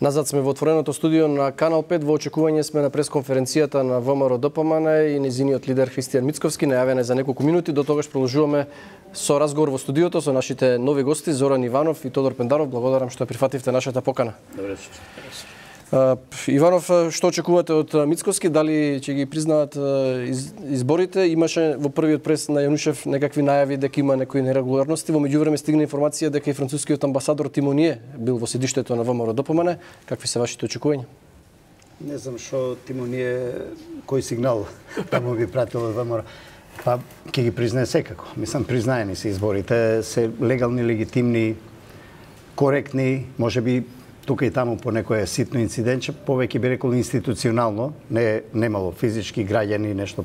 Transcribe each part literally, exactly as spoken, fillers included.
Назад сме во отвореното студио на Канал пет, во очекување сме на пресконференцијата на ВМРО Д П М Н и незиниот лидер Христијан Мицковски, најавен е за неколку минути. До тогаш продолжуваме со разговор во студиото со нашите нови гости Зоран Иванов и Тодор Пендаров. Благодарам што прифативте нашата покана. Добре вечер. Иванов, што очекувате од Мицковски? Дали ќе ги признаат изборите? Имаше во првиот прес на Јанушев некакви најави дека има некои нерегуларности. Во меѓувреме стигна информација дека и францускиот амбасадор Тимоние бил во седиштето на ВМРО Д П М Н. Какви се вашите очекувања? Не знам што Тимоние, кој сигнал таму би пратил од ВМРО. Па ќе ги признае секако. Мислам, признаени се изборите, се легални, легитимни, коректни, можеби тука и таму по некој ситно инцидентче, повеќе би рекол институционално, не немало физички граѓани нешто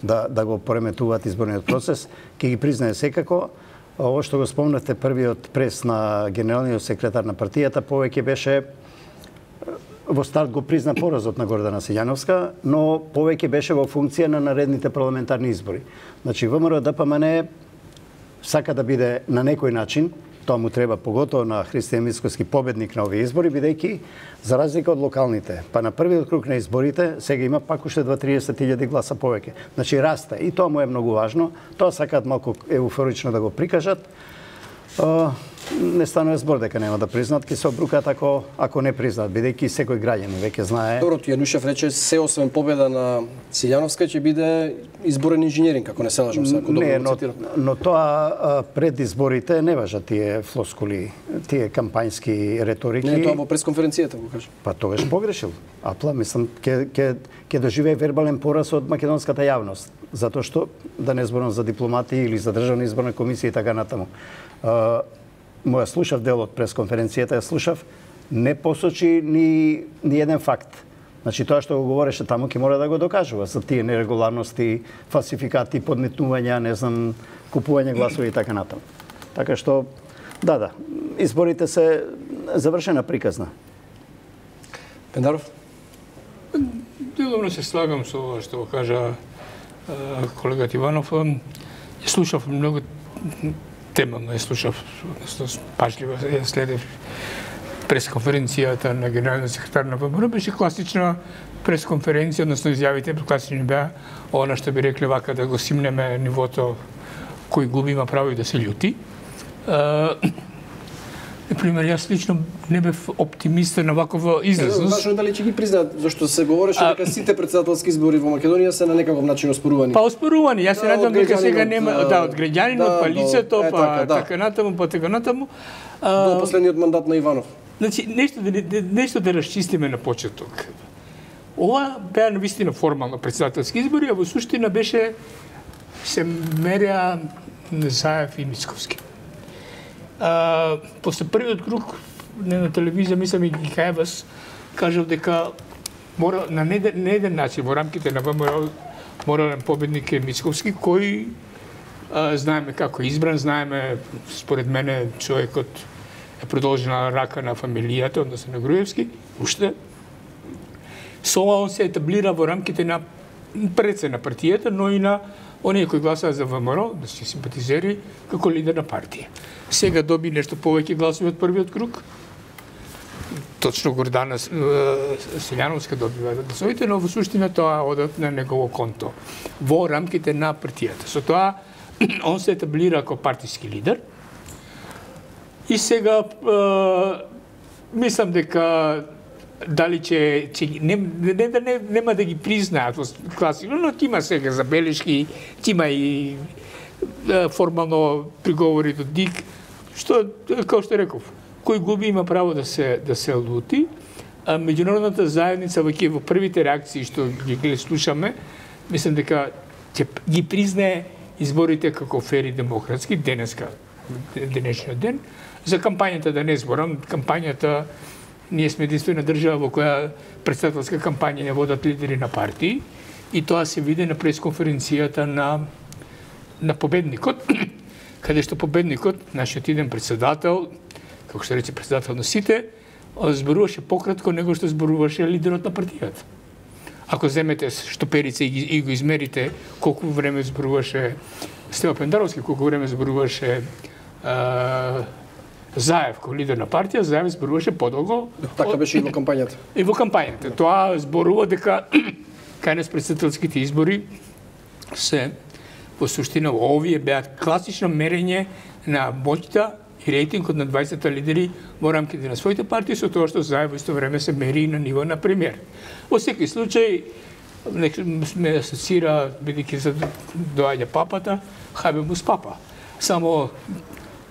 да да го пореметуваат изборниот процес, ќе ги признае секако. Ово што го спомнавте, првиот прес на генералниот секретар на партијата повеќе беше во старт го призна поразот на Гордана Силјановска, но повеќе беше во функција на наредните парламентарни избори. Значи ВМРО Д П М Н сака да биде на некој начин, тоа му треба поготово на Христијан Мицковски победник на овие избори, бидејќи за разлика од локалните, па на првиот круг на изборите сега има пак уште дваесет до триесет илјади гласа повеќе. Значи расте и тоа му е многу важно. Тоа сакаат малку еуфорично да го прикажат. Не станува збор дека нема да признаат, ќе се обрукаат ако ако не признаат, бидејќи секој граѓанин веќе знае. Добро, Јанушев рече се освен победа на Силјановска ќе биде изборен инженеринг, ако не се лажам се, ако добро не, го но, цитирам. но тоа пред изборите не важат тие флоскули, тие кампањски реторики. Не, тоа во пресконференцијата го кажа. Па тогаш погрешил. Апла, мислам, ќе ќе ќе доживее вербален пораз од македонската јавност, затоа што да не зборам за дипломати или за државна изборна комисија и така натаму. Моја слушав дел од пресконференцијата, ја слушав, не посочи ни, ни еден факт. Значи, тоа што го говореше таму, ќе мора да го докажува за тие нерегуларности, фалсификати, подметнувања, не знам, купување гласови и така натаму. Така што, да, да, изборите се завршена приказна. Пендаров? Деломно се слагам со ова што го кажа колегат Иванов. Ја слушав многу темално, ја слушав, пажливо ја следев пресконференцијата на генералниот секретар на ВМРО. Беше класична пресконференција, односно изјавите класични беа она што би рекле вака да го симнеме нивото кој губи има право и да се љути. Например, јас лично не бев оптимист на вакова излезност. Важно дали ќе ги признаат, зашто се говореше а... дека сите председателски избори во Македонија се на некаков начин оспорувани. Па оспорувани, јас се надевам дека сега нема да од граѓанин, од палицето, е, па така, да. така натаму, па така натаму. До последниот мандат на Иванов. Значи нешто да нешто да расчистиме на почеток. Ова беа навистина формално председателски избори, а во суштина беше се мереа Заев и Мицковски. А, после првиот круг на телевизија, мислам и Гикаевас, кажал дека мора на не, не еден начин во рамките на ВМРО морален победник е Мицковски, кој а, знаеме како избран, знаеме според мене човекот е продолжена рака на фамилијата, односно на Груевски, уште. Со ова он се етаблира во рамките на предсе на партијата, но и на оние кои гласаа за ВМРО, да се симпатизери, како лидер на партија. Сега доби нешто повеќе гласови од првиот круг. Точно Гордана Силјановска добива гласовите, но во суштина тоа одат на негово конто во рамките на партијата. Со тоа он се етаблира како партиски лидер. И сега е, мислам дека дали ќе ќе не не да не, нема да ги признаат класично, но ќе има сега забелешки, ќе има и е, формално приговори до ДИК, што како што реков, кој губи има право да се да се лути. А меѓународната заедница во во првите реакции што ги слушаме, мислам дека ќе ги признае изборите како фери демократски денеска, денешниот ден. За кампањата да не зборам, кампањата ние сме единствена држава во која председателска кампања не водат лидери на партии и тоа се види на пресконференцијата на на победникот, каде што победникот, нашиот иден председател, како што рече председател на сите, зборуваше пократко него што зборуваше лидерот на партијата. Ако земете штоперица и, и го измерите колку време зборуваше Стева Пендаровски, колку време зборуваше Заев, кој лидер на партија, Заев зборуваше подолго. Така беше и во кампањата. И во кампањата. Тоа зборува дека кај нас претседателските избори се во суштина овие беа класично мерење на моќта и рейтингот на дваесет лидери во рамките на своите партии, со тоа што Заев во исто време се мери и на ниво на премиер. Во секој случај, ме асоцира, бидејќи за доаѓа папата, хајбе му с папа. Само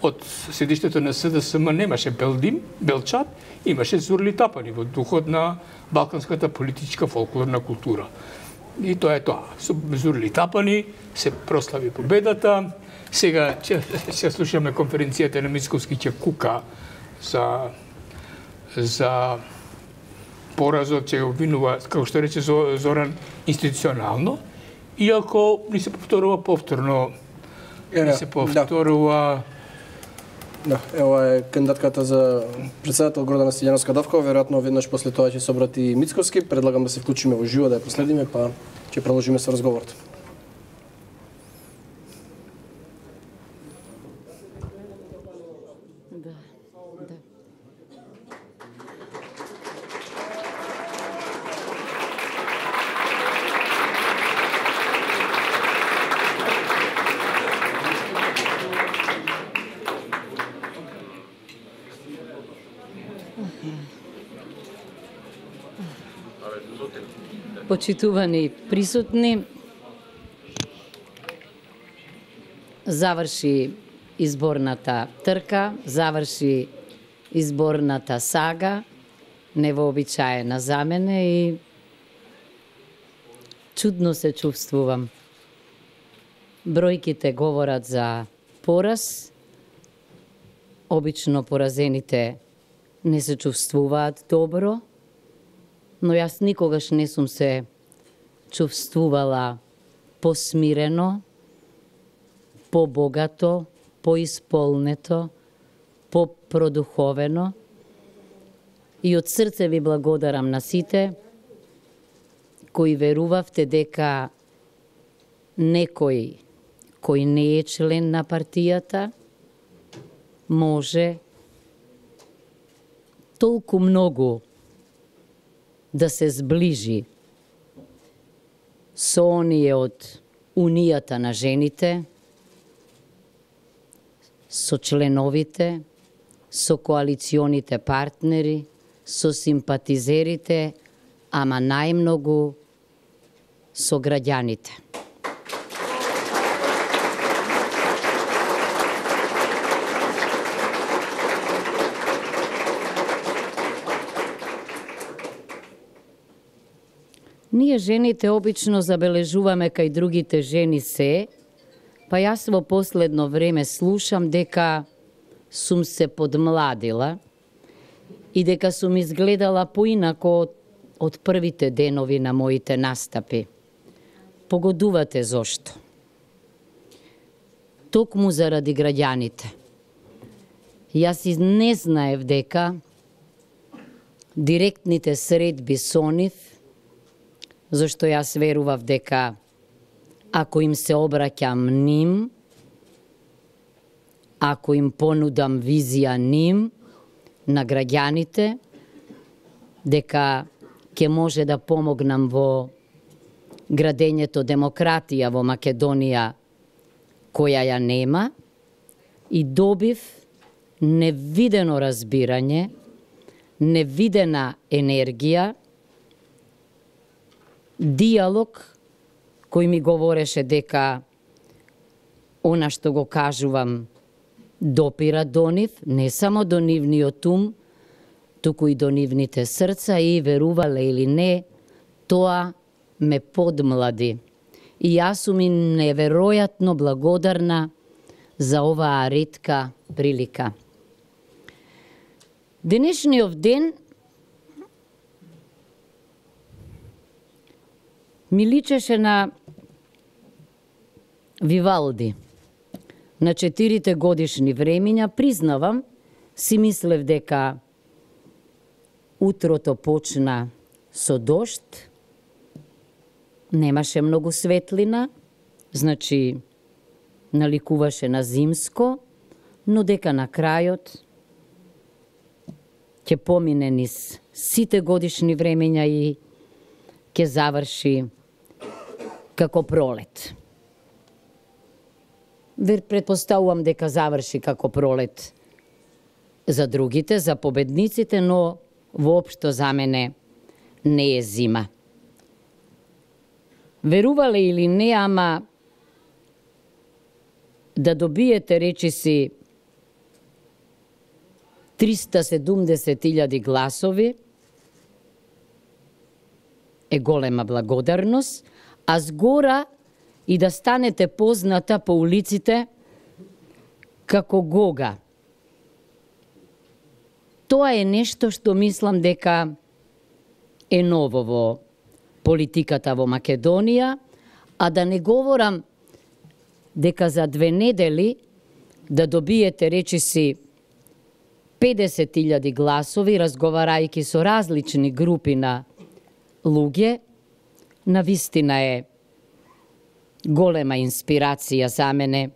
од седиштето на С Д С М немаше Белдим, Белчат, имаше Зурли Тапани во духот на балканската политичка фолклорна култура. И тоа е тоа. Со Зурли Тапани се прослави победата. Сега ќе, ќе слушаме конференцијата на Мицковски, ќе кука за за поразот, ќе обвинува, како што рече Зоран, институционално, иако ни се повторува повторно, ни се повторува... Да, ева е кандидатката за председател Гордана Стијановска Давкова, веројатно веднаш после тоа ќе се обрати Мицковски. Предлагам да се вклучиме во живо, да ја последиме, па ќе продолжиме со разговорот. Почитувани присутни, заврши изборната трка, заврши изборната сага, невообичаена за мене и чудно се чувствувам. Бројките говорат за пораз, обично поразените не се чувствуваат добро, но јас никогаш не сум се чувствувала посмирено, побогато, поисполнето, попродуховено. И од срце ви благодарам на сите кои верувавте дека некој кој не е член на партијата може толку многу да се сближи со оние од Унијата на жените, со членовите, со коалиционите партнери, со симпатизерите, ама најмногу со граѓаните. Ние жените обично забележуваме кај другите жени се, па јас во последно време слушам дека сум се подмладила и дека сум изгледала поинако од, од првите денови на моите настапи. Погодувате зошто? Токму заради граѓаните. Јас и не знаев дека директните средби со нив, зашто јас верував дека ако им се обраќам ним, ако им понудам визија ним на граѓаните, дека ќе може да помогнам во градењето демократија во Македонија, која ја нема, и добив невидено разбирање, невидена енергија, диалог кој ми говореше дека она што го кажувам допира до нив, не само до нивниот ум, туку и до нивните срца, и верувале или не, тоа ме подмлади. И јас сум и неверојатно благодарна за оваа ретка прилика. Денешниот ден ми личеше на Вивалди. На четирите годишни времиња, признавам, си мислев дека утрото почна со дожд, немаше многу светлина, значи наликуваше на зимско, но дека на крајот ќе помине низ сите годишни времења и ќе заврши како пролет. Вер предпоставувам дека заврши како пролет за другите, за победниците, но воопшто за мене не е зима. Верувале или не, ама да добиете, речиси, триста седумдесет илјади гласови е голема благодарност, а згора и да станете позната по улиците како Гога. Тоа е нешто што мислам дека е ново во политиката во Македонија, а да не говорам дека за две недели да добиете, речиси, педесет илјади гласови, разговарајќи со различни групи на луѓе, навистина е голема инспирација за мене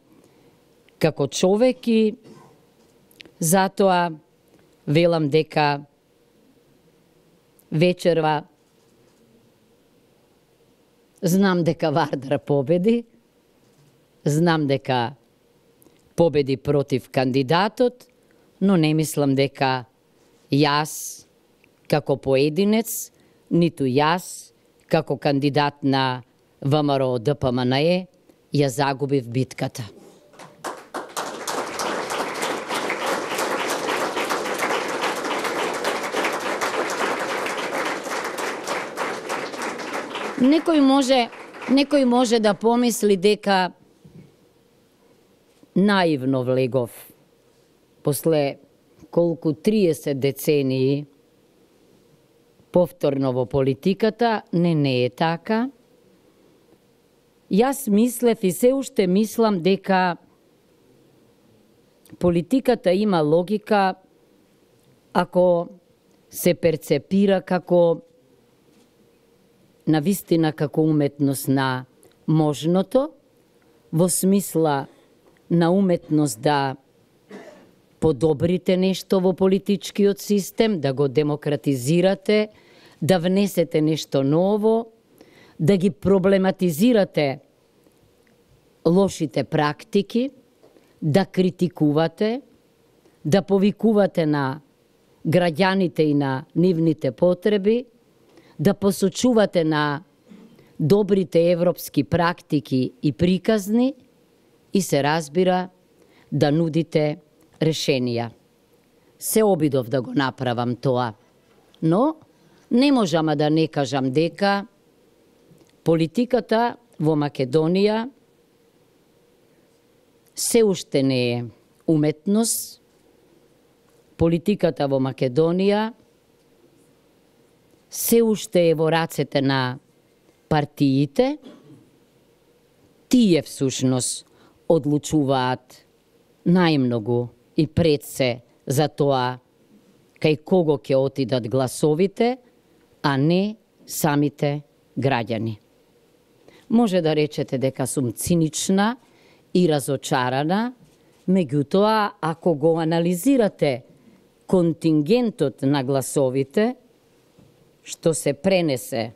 како човек и затоа велам дека вечерва знам дека Вардар победи, знам дека победи против кандидатот, но не мислам дека јас како поединец, ниту јас како кандидат на ВМРО Д П М Н Е ја загубив битката. Некој може, некој може да помисли дека наивно влегов после колку триесет децении повторно во политиката. Не, не е така. Јас мислев и се уште мислам дека политиката има логика ако се перцепира како навистина како уметност на можното, во смисла на уметност да подобрите нешто во политичкиот систем, да го демократизирате, да внесете нешто ново, да ги проблематизирате лошите практики, да критикувате, да повикувате на граѓаните и на нивните потреби, да посочувате на добрите европски практики и приказни и се разбира да нудите решенија. Се обидов да го направам тоа, но не можам да не кажам дека политиката во Македонија се уште не е уметност. Политиката во Македонија се уште е во рацете на партиите. Тие всушност одлучуваат најмногу и пред се за тоа кај кого ќе отидат гласовите, а не самите граѓани. Може да речете дека сум цинична и разочарана, меѓутоа, ако го анализирате контингентот на гласовите, што се пренесе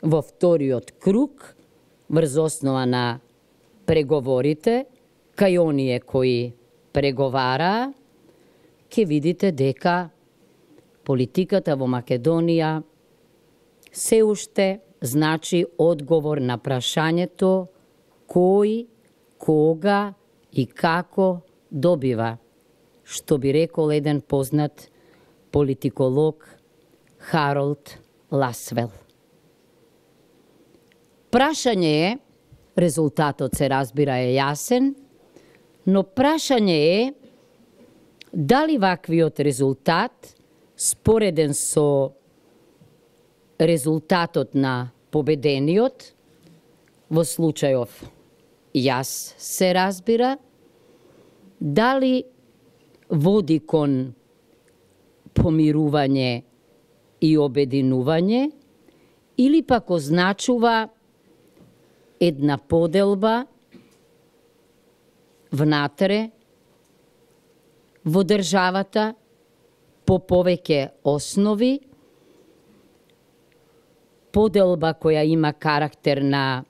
во вториот круг, врз основа на преговорите, кај оние кои преговараа, ќе видите дека политиката во Македонија се уште значи одговор на прашањето кој, кога и како добива, што би рекол еден познат политиколог Харолд Ласвел. Прашање е, резултатот се разбира е јасен, но прашање е дали ваквиот резултат, спореден со резултатот на победениот, во случајов јас се разбира, дали води кон помирување и обединување, или пак означува една поделба внатре во државата по повеќе основи, поделба која има карактер на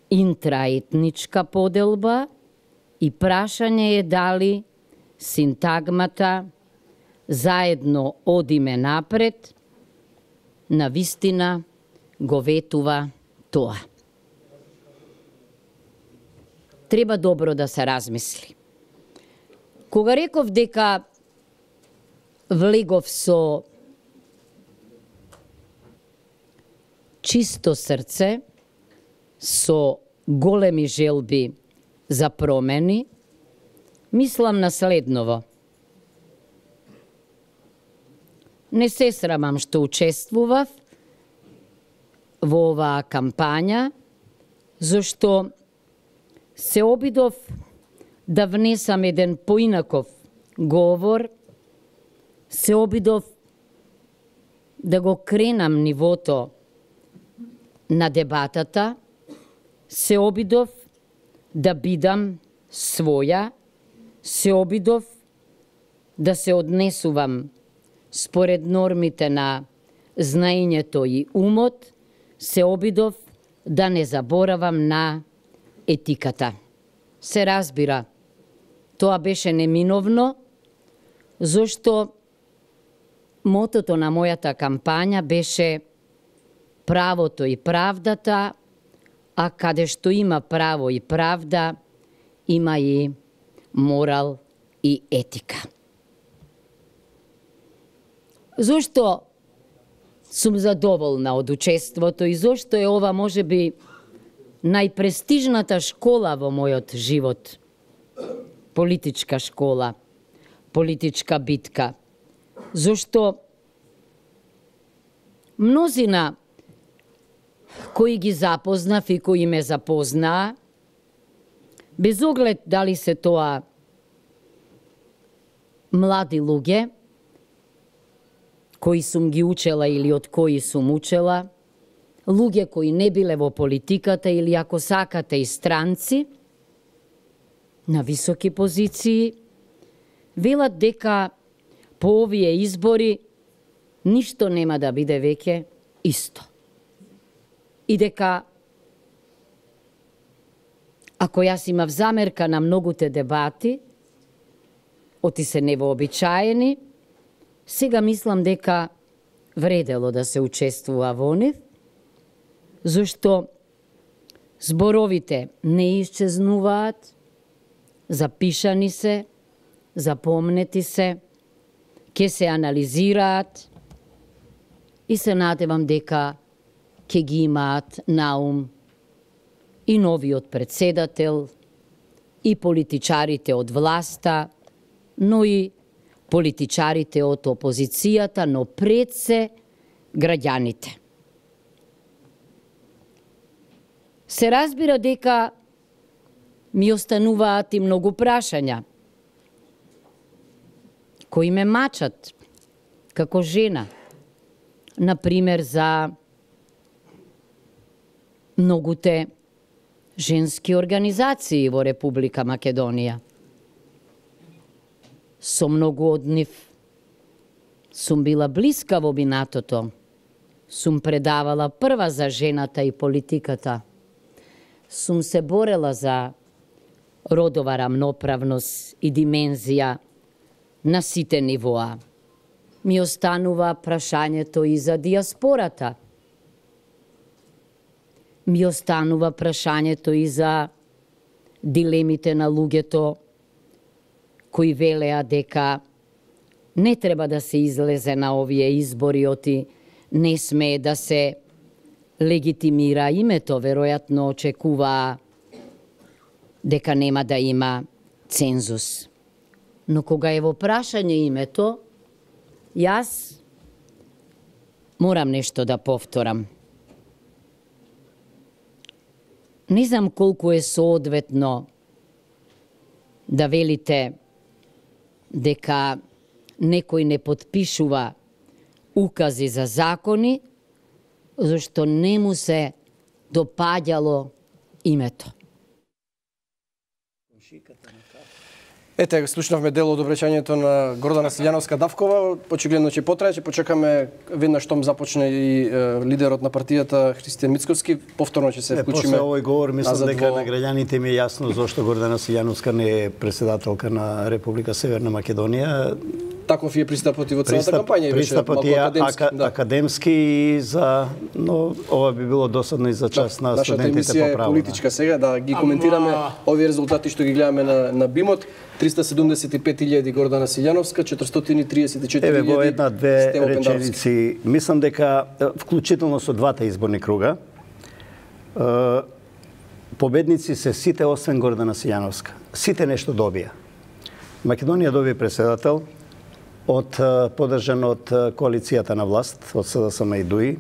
интраетничка поделба и прашање е дали синтагмата заедно одиме напред, на вистина го ветува тоа. Треба добро да се размисли. Кога реков дека влегов со чисто срце, со големи желби за промени, мислам на следново. Не се срамам што учествував во оваа кампања, зашто се обидов да внесам еден поинаков говор, се обидов да го кренам нивото на дебатата, се обидов да бидам своја, се обидов да се однесувам според нормите на знаењето и умот, се обидов да не заборавам на етиката. Се разбира, тоа беше неминовно, зашто мотото на мојата кампања беше правото и правдата, а каде што има право и правда, има и морал и етика. Зошто сум задоволна од учеството и зошто е ова можеби најпрестижната школа во мојот живот? Политичка школа, политичка битка. Зошто мнозина кои ги запознав и кои ме запознаа, без оглед дали се тоа млади луѓе, кои сум ги учела или од кои сум учела, луѓе кои не биле во политиката или ако сакате и странци, на високи позиции, велат дека по овие избори ништо нема да биде веќе исто. И дека, ако јас имав замерка на многуте дебати, оти се невообичаени, сега мислам дека вредело да се учествува во нив, зашто зборовите не исчезнуваат, запишани се, запомнети се, ќе се анализираат и се надевам дека ќе ги имаат на ум и новиот председател, и политичарите од власта, но и политичарите од опозицијата, но пред се граѓаните. Се разбира дека ми остануваат и многу прашања, кои ме мачат како жена, например за многуте женски организации во Република Македонија. Со многу од нив сум била блиска во минатото, сум предавала прва за жената и политиката, сум се борела за родова рамноправност и димензија на сите нивоа. Ми останува прашањето и за диаспората. Ми останува прашањето и за дилемите на луѓето кои велеа дека не треба да се излезе на овие избори, оти не смее да се легитимира името, веројатно очекуваа дека нема да има цензус. Но кога е во прашање името, јас морам нешто да повторам. Не знам колку е соодветно да велите дека некој не потпишува укази за закони, зашто не му се допаѓало името. Ете, слушнавме дел од обраќањето на Гордана Силјановска Давкова. Очигледно ќе потрае, ќе почекаме веднаш штом започне и е, лидерот на партијата Христијан Мицковски. Повторно ќе се вклучиме. После овој говор мислам дека во... на граѓаните ми е јасно зошто Гордана Силјановска не е председателка на Република Северна Македонија. Таков е пристапот и во целата кампања и беше пристапот малку е академски. ака, Да. академски и за, но ова би било досадно и за час Да, на нашата студентите емисија по е право. политичка сега, да ги коментираме Ама... овие резултати што ги гледаме на, на БИМОТ. триста седумдесет и пет илјади Гордана Силјановска, четиристотини и триесет и четири Еве илјади во една-две Стево Пендаровски. реченици, мислам дека вклучително со двата изборни круга, е, победници се сите освен Гордана Силјановска. Сите нешто добија. Македонија добија председател, од поддржан од коалицијата на власт, од СДСМ и ДУИ.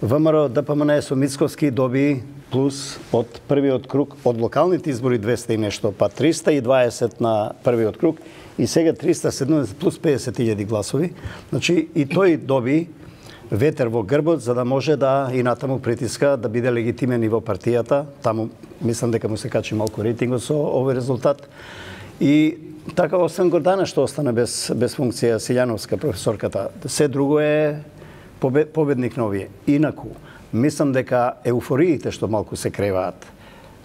ВМРО ДПМН со Мицковски доби плюс од првиот круг, од локалните избори двеста и нешто, па триста и дваесет на првиот круг и сега триста и седумдесет плюс педесет илјади гласови. Значи и тој доби ветер во грбот за да може да и натаму притиска да биде легитимен и во партијата. Таму мислам дека му се качи малку рейтингот со овој резултат. И така, освен Гордана што остана без, без функција Силјановска, професорката, се друго е победник на овие. Инаку, мислам дека еуфориите што малку се креваат,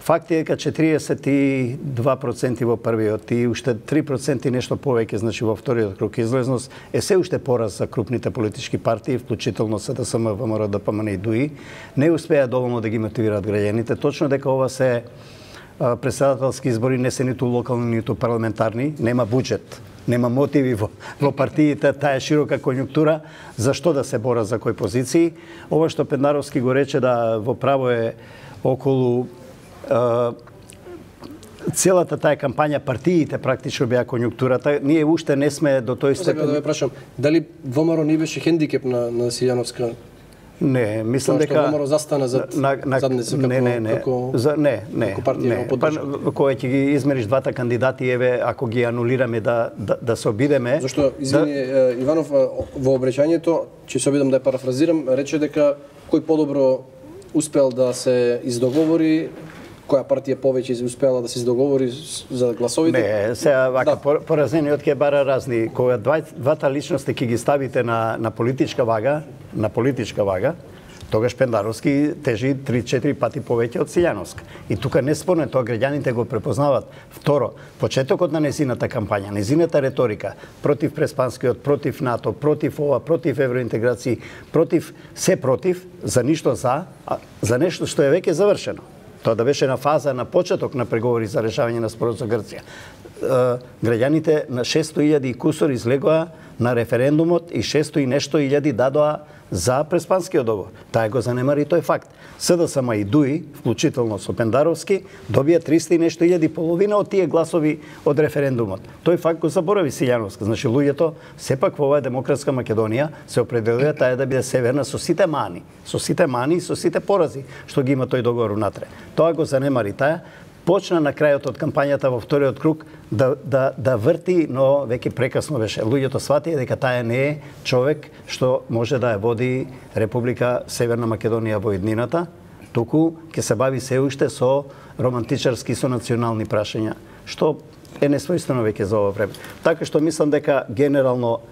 факт е дека четириесет и два проценти во првиот и уште три проценти нешто повеќе, значи во вториот круг излезност, е се уште пораз за крупните политички партии, вклучително СДСМ, ВМРО, ДПМН и ДУИ, не успеа доволно да ги мотивираат граѓаните, точно дека ова се председателски избори, не се ниту локални, ниту парламентарни, нема буџет, нема мотиви во, во партиите, таа е широка конјунктура, за што да се бора за кои позиции. Ова што Пендаровски го рече да во право е околу е, целата таа кампања, партиите практично беа конјунктурата. Ние уште не сме до тој степен. Сега да ве прашам, дали ВМРО не беше хендикеп на, на Силјановска? Не, мислам дека ВМРО застана зад на, на, задница како не, не, не, како за не, не, како партија не. го Па, поддржа. кога ќе ги измериш двата кандидати, еве ако ги анулираме да да, да се обидеме. Зашто извини да... Иванов во обраќањето, ќе се обидам да ја парафразирам, рече дека кој подобро успел да се издоговори, која партија повеќе успела да се издоговори за гласовите? Не, сега вака Да. поразениот ќе бара разни. Кога два, двата личности ќе ги ставите на на политичка вага, на политичка вага, тогаш Пендаровски тежи три-четири пати повеќе од Силјановска. И тука не спорно, тоа граѓаните го препознават. Второ, почетокот на незината кампања, незината реторика против Преспанскиот, против НАТО, против ова, против евроинтеграција, против се против, за ништо за, а за нешто што е веќе завршено. Тоа да беше на фаза на почеток на преговори за решавање на спорот со Грција. Граѓаните на шесто илјади и кусор излегоа на референдумот и шесто и нешто илјади дадоа за Преспанскиот договор. Таа го занемари тој факт. СДСМ и ДУИ, вклучително со Пендаровски, добија триста и нешто илјади, половина од тие гласови од референдумот. Тој факт го заборави Силјановска. Значи луѓето сепак во оваа демократска Македонија се определија таа да биде северна со сите мани, со сите мани и со сите порази што ги има тој договор унатре. Тоа го занемари таа. Почна на крајот од кампањата во вториот круг да, да, да врти, но веќе прекасно беше. Луѓето сватија дека таа не е човек што може да ја води Република Северна Македонија во иднината, туку ќе се бави се уште со романтичарски, со национални прашања, што е несвојствено веќе за ова време. Така што мислам дека генерално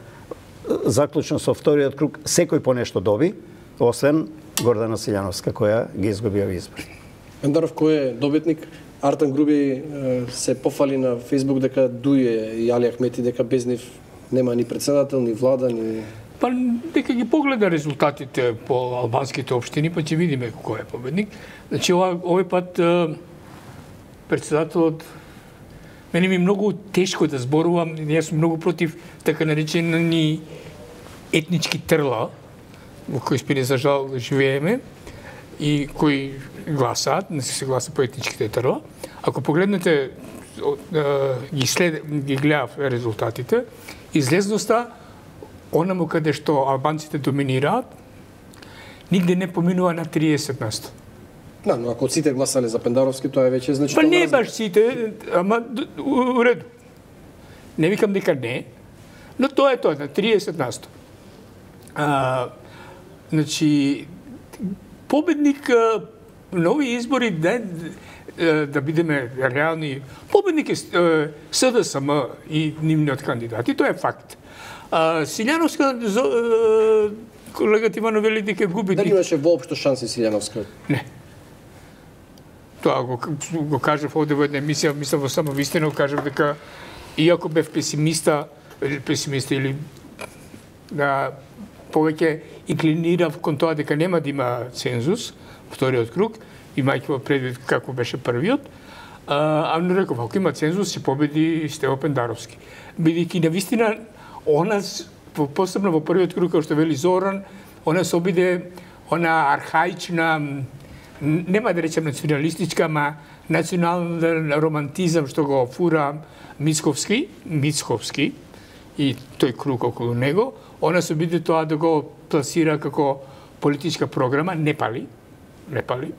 заклучно со вториот круг секој по нешто доби, освен Гордана Силјановска која ги изгуби овие избори. Пендаров кој е добитник? Артан Груби се пофали на Фејсбук дека Дује и Али Ахмети дека без нив нема ни председател, ни влада, ни... Па дека ги погледа резултатите по албанските општини, па ќе видиме кој е победник. Значи ова, овој пат председателот мене ми многу тешко да зборувам, јас сум многу против така наречени етнички трла во кои спине за жал живееме и кои гласаат, не се гласа по етничките трла. Ако погледнете, ги, след, ги гледав резултатите, излезноста, онаму каде што албанците доминираат, нигде не поминува на триесет место. Да, но ако сите гласале за Пендаровски, тоа е веќе Па значително. не баш сите, ама у реду. Не викам дека не, но тоа е тоа, на триесет место. А, значи, победник на овие избори, да бидеме реални, победник е С Д С М и нивниот кандидат. И тоа е факт. Силјановска, колегата Ивано вели дека губи... Дали имаше воопшто шанси Силјановска? Не. Тоа го, го кажав овде во една емисија, мислам во само вистина, кажав дека иако бев песимиста, песимиста или да повеќе инклинирав кон тоа дека нема да има цензус, вториот круг, имајќи во предвид како беше првиот, а, а не реков, ако има цензус, се победи Стево Пендаровски. Бидејќи на вистина, она, посебно во првиот круг, како што вели Зоран, она се обиде, она архаична, нема да речем националистичка, ама национален романтизам што го фура Мицковски, Мицковски и тој круг околу него, она се обиде тоа да го пласира како политичка програма, не пали, не пали.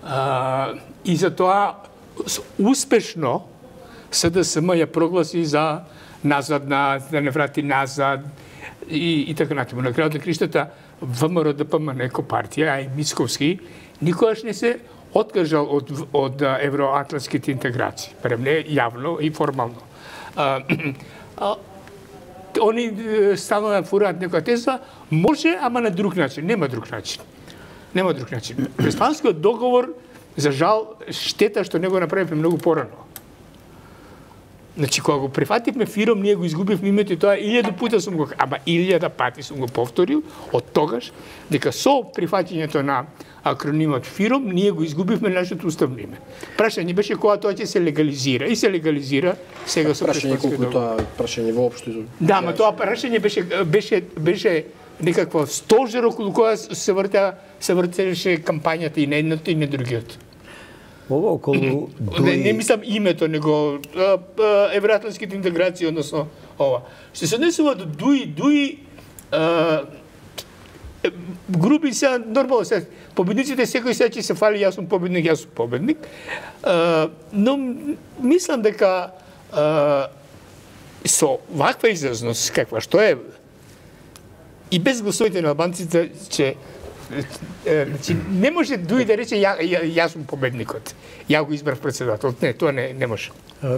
А, и за тоа успешно С Д С М ја прогласи за назадна, да не врати назад и, и така натаму. На крајот на криштата В М Р Д П М Н како партија, а и Мицковски, никогаш не се откажал од, од евроатлантските интеграции, барем не јавно и формално. А, а, они стално да фураат некоја теза, може, ама на друг начин. Нема друг начин. Нема друг начин. Преспанскиот договор, за жал, штета што не го направивме многу порано. Значи, кога го прифативме фиром, ние го изгубивме името и тоа илјаду пута сум го, ама илјада пати сум го повторил, од тогаш, дека со прифаќањето на акронимот фиром, ние го изгубивме нашето уставно име. Прашање беше кога тоа ќе се легализира. И се легализира сега со преспанскиот договор. Прашање колку тоа прашање воопшто. Да, ма тоа прашање беше беше беше некаква стожер околу која се вртеа се вртеше кампањата и на едното и на другиот. Ова околу Дуи... Не, не мислам името, него евроатлантските интеграции, односно ова. Што се однесува до Дуи, Дуи а, групи се нормално се победниците секој се ќе се фали, јас сум победник, јас сум победник. А, но мислам дека а, со ваква изразност каква што е и без гласовите на албанците че Значи, не може Дуи да рече ја, ја, јас сум победникот. Ја го избрав председател. Не, тоа не, не може.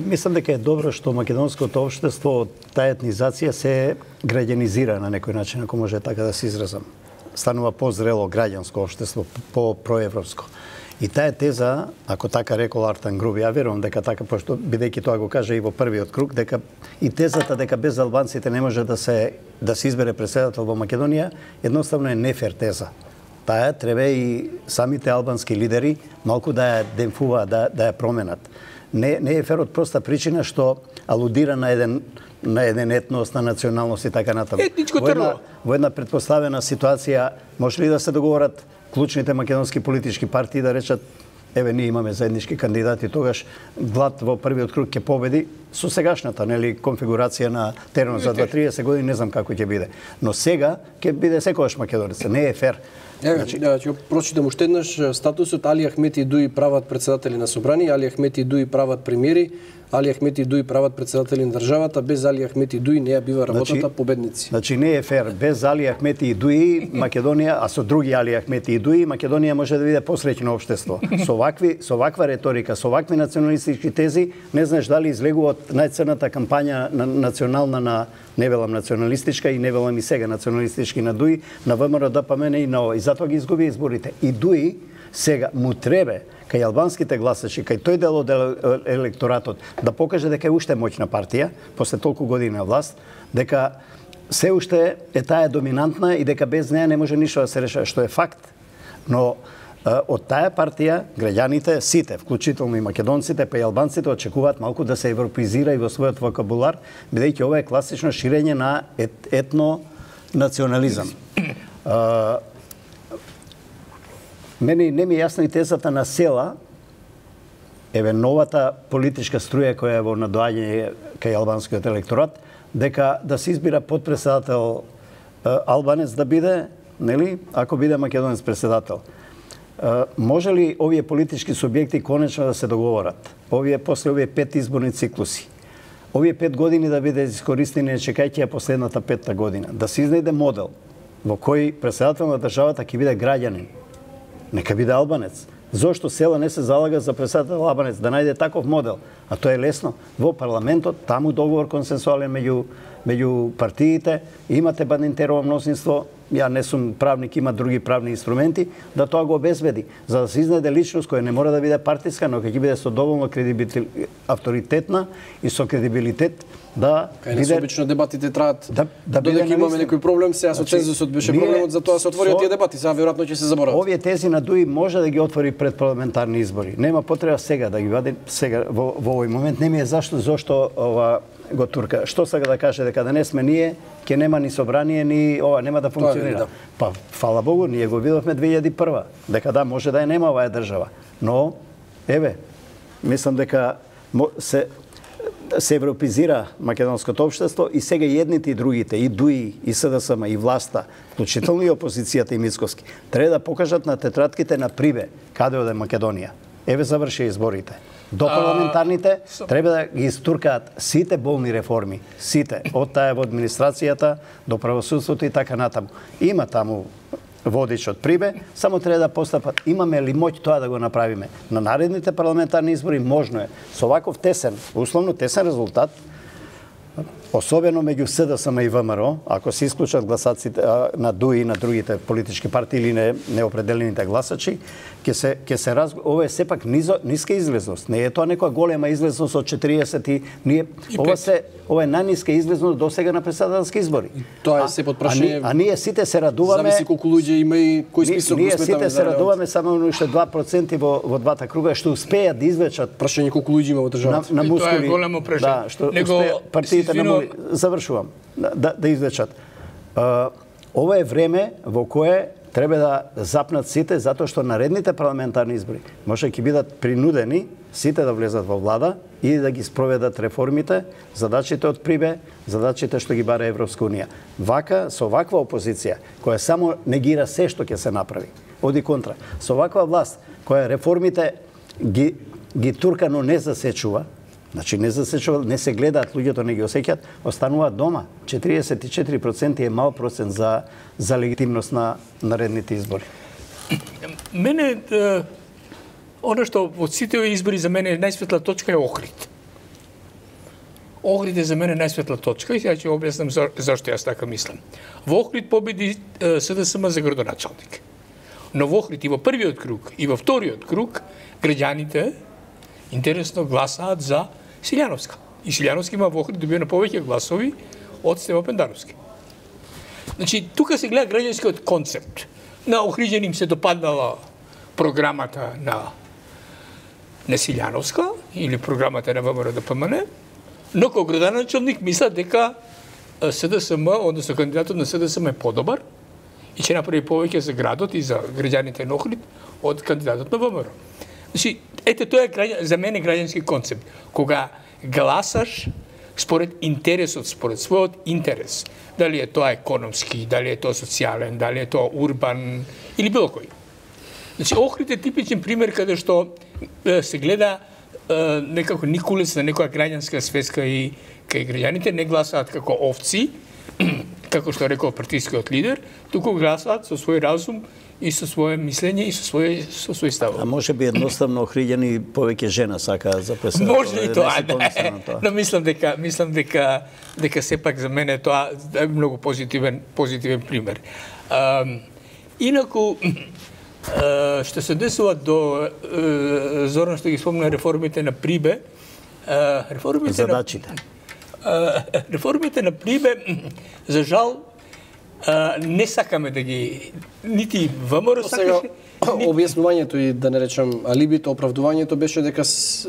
Мислам дека е добро што македонското општество од таа етнизација се граѓанизира на некој начин, ако може така да се изразам. Станува позрело граѓанско општество, по-проевропско. И таа теза, ако така рекол Артан Груби, ја верувам дека така, пошто бидејќи тоа го кажа и во првиот круг, дека и тезата дека без албанците не може да се да се избере председател во Македонија, едноставно е нефер теза. Таа треба и самите албански лидери малку да ја демфуваат, да, да ја променат. Не, не е фер од проста причина што алудира на еден на еден етнос, на националност и така натаму. Етничко во една, трво. во една предпоставена ситуација може ли да се договорат клучните македонски политички партии да речат еве ние имаме заеднички кандидати, тогаш Глад во првиот круг ќе победи со сегашната, нели, конфигурација на теренот за дваесет до триесет години, не знам како ќе биде. Но сега ќе биде секогаш македонец, не е фер. Еве, значи, ќе прочитам уште еднаш статусот: Али Ахмети и Дуи прават председатели на собрани, Али Ахмети и Дуи прават премиери, Али Ахмети и Дуи прават председатели на државата, без Али Ахмети и Дуи не ја бива работата, значи, победници. Значи не е фер, без Али Ахмети и Дуи Македонија, а со други Али Ахмети и Дуи Македонија може да биде посреќено општество. Со вакви со ваква реторика, со вакви националистички тези, не знаеш дали излегува од најцрната кампања на национална на не велам националистичка и не велам и сега националистички на Дуи, на В М Р Д П М Н и на ова. И затоа ги изгуби изборите. И Дуи сега му требе кај албанските гласачи, кај тој дел од електоратот да покаже дека е уште моќна партија после толку години на власт, дека се уште е таа доминантна и дека без неа не може ништо да се решава, што е факт. Но од таа партија граѓаните сите, вклучително и македонците, па и албанците очекуваат малку да се европеизира и во својот вокабулар, бидејќи ова е класично ширење на ет, етно национализам. Мене не ми е јасна и тезата на Села, еве новата политичка струја која е во надоаѓање кај албанскиот електорат, дека да се избира подпредседател албанец да биде, нели, ако биде македонец председател. Може ли овие политички субјекти конечно да се договорат? Овие после овие пет изборни циклуси. Овие пет години да биде искористени, чекајќи ја последната петта година. Да се изнајде модел во кој председател на државата ќе биде граѓанин. Нека биде албанец. Зошто Села не се залага за председател Лабанец да најде таков модел? А тоа е лесно. Во парламентот, таму договор консенсуален меѓу меѓу партиите, имате бандинтерово мнозинство, ја не сум правник, има други правни инструменти, да тоа го обезбеди, за да се изнајде личност која не мора да биде партиска, но ќе биде со доволно кредибил... авторитетна и со кредибилитет да Кај биде... обично дебатите траат да, да додека имаме некој проблем, сега со цензусот беше проблемот, затоа се отворија тие дебати, сега веројатно ќе се заборават. Овие тези на ДУИ може да ги отвори пред парламентарни избори. Нема потреба сега да ги вади сега во, во овој момент. Не ми е зашто зошто ова го турка. Што сака да каже дека да не сме ние, ќе нема ни собрание, ни ова нема да функционира. Да. Па фала Богу, ние го видовме две илјади и прва, дека да може да е нема оваа држава. Но еве, мислам дека се се европизира македонското општество и сега и едните и другите, и ДУИ, и СДСМ, и власта, вклучително и опозицијата и Мицковски, треба да покажат на тетратките на Прибе каде оде Македонија. Еве заврши изборите. До парламентарните треба да ги истуркаат сите болни реформи, сите, од таа во администрацијата до правосудството и така натаму. Има таму водич од Прибе, само треба да постапат. Имаме ли моќ тоа да го направиме? На наредните парламентарни избори можно е. Со ваков тесен, условно тесен резултат, особено меѓу СДСМ и ВМРО, ако се исклучат гласаците на ДУИ и на другите политички партии или не, неопределените гласачи, ќе се ќе се раз... ова е сепак низо, ниска излезност. Не е тоа некоја голема излезност од четириесет и ние и ова се ова е најниска излезност до сега на председателски избори. И тоа е се под прашање. А, а ние сите се радуваме. Зависи колку луѓе има и кој список ние, го сметаме. Ние сите се радуваме само уште два проценти во во двата круга што успеат да извлечат прашање колку луѓе има во државата. На, на мускули. Тоа е големо прашање. Да, што Него, партиите на мули... завршувам да да извлечат. Uh, ова е време во кое треба да запнат сите, затоа што наредните парламентарни избори може ќе бидат принудени сите да влезат во влада и да ги спроведат реформите, задачите од Прибе, задачите што ги бара Европска унија. Вака, со ваква опозиција, која само негира се што ќе се направи, оди контра. Со ваква власт, која реформите ги, ги турка, но не засечува, значи не засечува, не се гледаат, луѓето не ги осеќаат, остануваат дома. четириесет и четири проценти е мал процент за, за легитимност на наредните избори. Мене, оно што од сите избори за мене најсветла точка е Охрид. Охрид е за мене најсветла точка и сега ќе објаснам за, зашто јас така мислам. Во Охрид победи СДСМ за градоначалник. Но во Охрид и во првиот круг и во вториот круг граѓаните интересно гласаат за Силјановска. И Силјановски има во Охрид добиено повеќе гласови од Стево Пендаровски. Значи, тука се гледа граѓанскиот концепт. На Охриѓани им се допаднала програмата на на Силјановска или програмата на ВМРО Д П М Н, но како градоначалник мислат дека СДСМ, односно кандидатот на СДСМ е подобар и ќе направи повеќе за градот и за граѓаните на Охрид од кандидатот на ВМРО. Значи, ете тоа е за мене граѓански концепт. Кога гласаш според интересот, според својот интерес, дали е тоа економски, дали е тоа социјален, дали е тоа урбан или било кој. Значи, Охрид е типичен пример каде што е, се гледа е, некако никулес на некоја граѓанска свеска и кај граѓаните не гласаат како овци, како што рекол партискиот лидер, туку гласаат со свој разум и со свое мислење и со свој со свој став. А може би едноставно Охриѓани повеќе жена сака за председател. Може и тоа, да. Но мислам дека мислам дека дека сепак за мене тоа е многу позитивен позитивен пример. А, инаку а, што се десува до а, Зоран што ги спомна реформите на Прибе, а, реформите задачите. На, а, реформите на Прибе за жал Uh, не сакаме да ги нити ВМРО сакаше. Објаснувањето и да не речам алибито, оправдувањето беше дека с...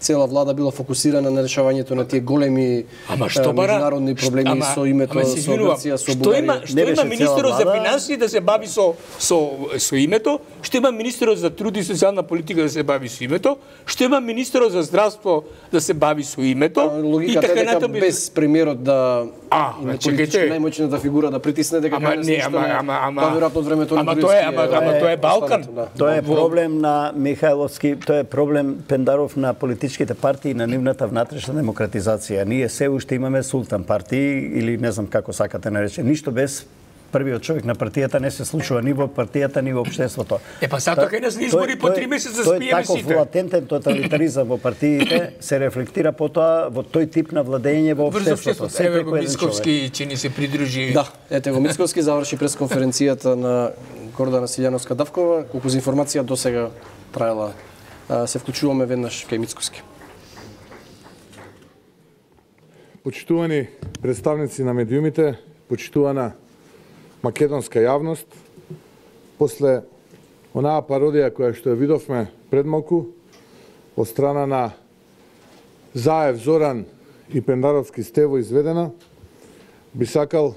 цела влада била фокусирана на решавањето на тие големи ама што бара меѓународни проблеми ама, со името ама, со Грција, со Бугарија. Што има, што има министерот за финансии да се бави со со со името, што има министерот за труд и социјална политика да се бави со името, што има министерот за здравство да се бави со името и така натаму без премиерот да а, има политички најмоćната фигура да притисне дека ама не, ама ама ама па веројатно од времето на ама тоа е ама ама тоа е Балкан. Тоа е проблем на Михајловски, тоа е проблем Пендаров на политичките партии на нивната внатрешна демократизација. Ние се уште имаме султан партии или не знам како сакате нарече, ништо без првиот човек на партијата не се случува ни во партијата, ни во општеството. Е, па сато кај нас на избори по три месеца спиеме сите. Тој таков латентен тоталитаризам во партиите се рефлектира потоа во тој тип на владење во општеството. Еве го Мицковски че ни се придружи. Да, ете го Мицковски заврши пресконференцијата на Гордана Силјановска-Давкова, колку за информација до сега траела. Се вклучуваме веднаш кај Мицковски. Почитувани представници на медиумите, почитувана македонска јавност, после онаа пародија која што ја видовме пред малку од страна на Заев Зоран и Пендаровски Стево изведена, би сакал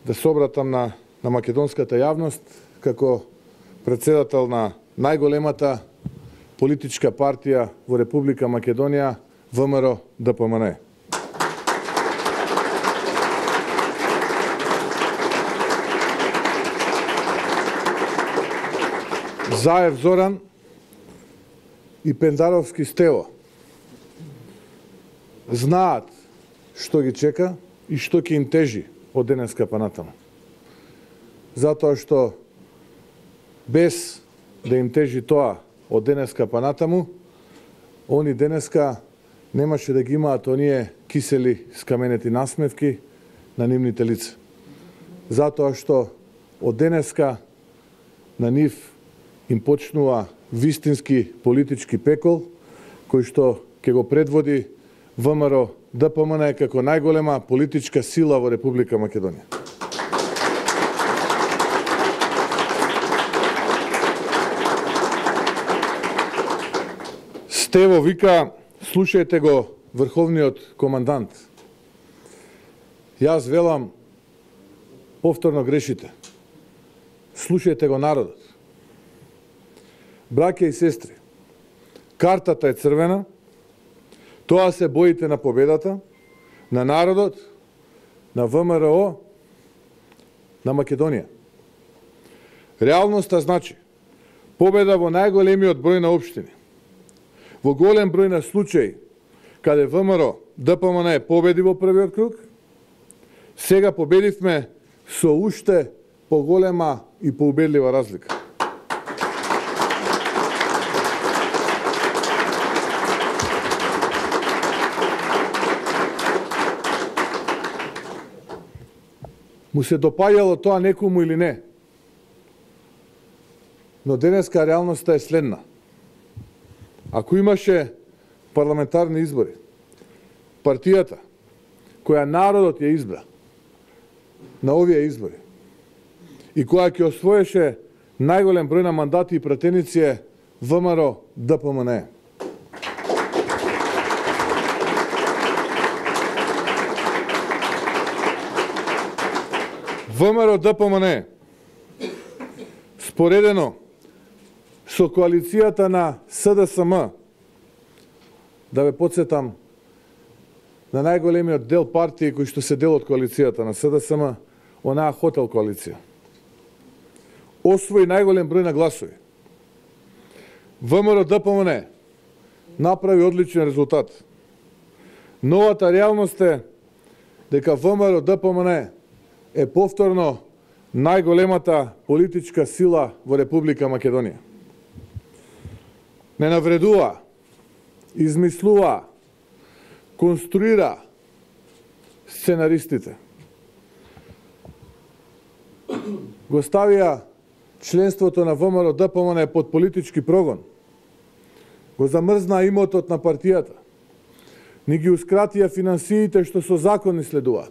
да се обратам на, на македонската јавност како председател на најголемата политичка партија во Република Македонија, ВМРО ДПМН. Заев Зоран и Пендаровски Стево знаат што ги чека и што ќе им тежи од денеска па натаму. Затоа што без да им тежи тоа од денеска па натаму, они денеска немаше да ги имаат оние кисели скаменети насмевки на нивните лица. Затоа што од денеска на нив им почнува вистински политички пекол, кој што ќе го предводи ВМРО ДПМН како најголема политичка сила во Република Македонија. Стево вика, слушајте го врховниот командант. Јас велам, повторно грешите. Слушајте го народот. Браќа и сестри, картата е црвена, тоа се боите на победата, на народот, на ВМРО, на Македонија. Реалноста значи победа во најголемиот број на општини. Во голем број на случаи, каде ВМРО ДПМН победи во првиот круг, сега победивме со уште поголема и поубедлива разлика. Му се допаѓало тоа некому или не. Но денеска реалноста е следна. Ако имаше парламентарни избори, партијата која народот ја избра на овие избори и која ќе освоеше најголем број на мандати и пратеници е ВМРО ДПМН. ВМРО ДПМН споредено со коалицијата на СДСМ, да ве подсетам на најголемиот дел партии кои што се дел од коалицијата на СДСМ, онаа хотел коалиција, освои најголем број на гласови. ВМРО ДПМН направи одличен резултат. Новата реалност е дека ВМРО ДПМН е повторно најголемата политичка сила во Република Македонија. Не навредува, измислува, конструира сценаристите. Го ставија членството на ВМРО ДПМН под политички прогон. Го замрзна имотот на партијата. Ни гиускратија финансиите што со закони следуваат.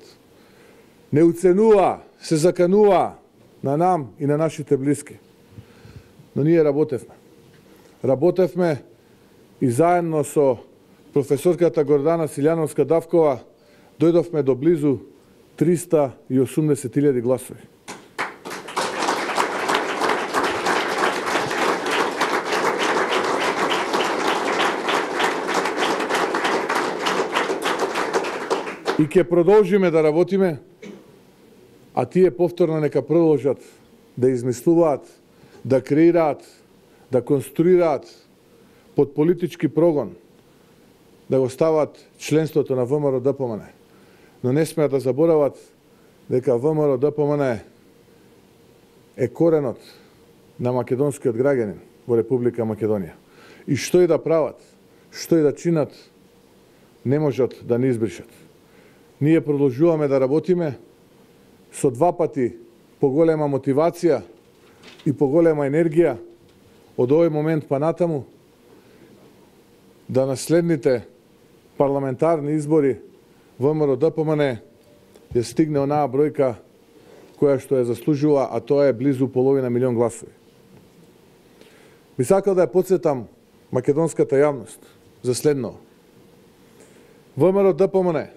Не уценува, се заканува на нам и на нашите блиски. Но ние работевме. Работевме и заедно со професорката Гордана Силјановска-Давкова дојдовме до близу триста и осумдесет илјади гласови. И ќе продолжиме да работиме, а тие повторно нека продолжат да измислуваат, да креираат, да конструираат под политички прогон, да го стават членството на ВМРО ДПМН. Но не смеат да заборават дека ВМРО Д П М Н е коренот на македонскиот граѓанин во Република Македонија. И што и да прават, што и да чинат, не можат да не избришат. Ние продолжуваме да работиме со два пати поголема мотивација и поголема енергија од овој момент па натаму да на следните парламентарни избори ВМРО Д П М Н ја стигне онаа бројка која што ја заслужува, а тоа е близу половина милион гласови. Би сакал да ја потсетам македонската јавност за следно. ВМРО Д П М Н,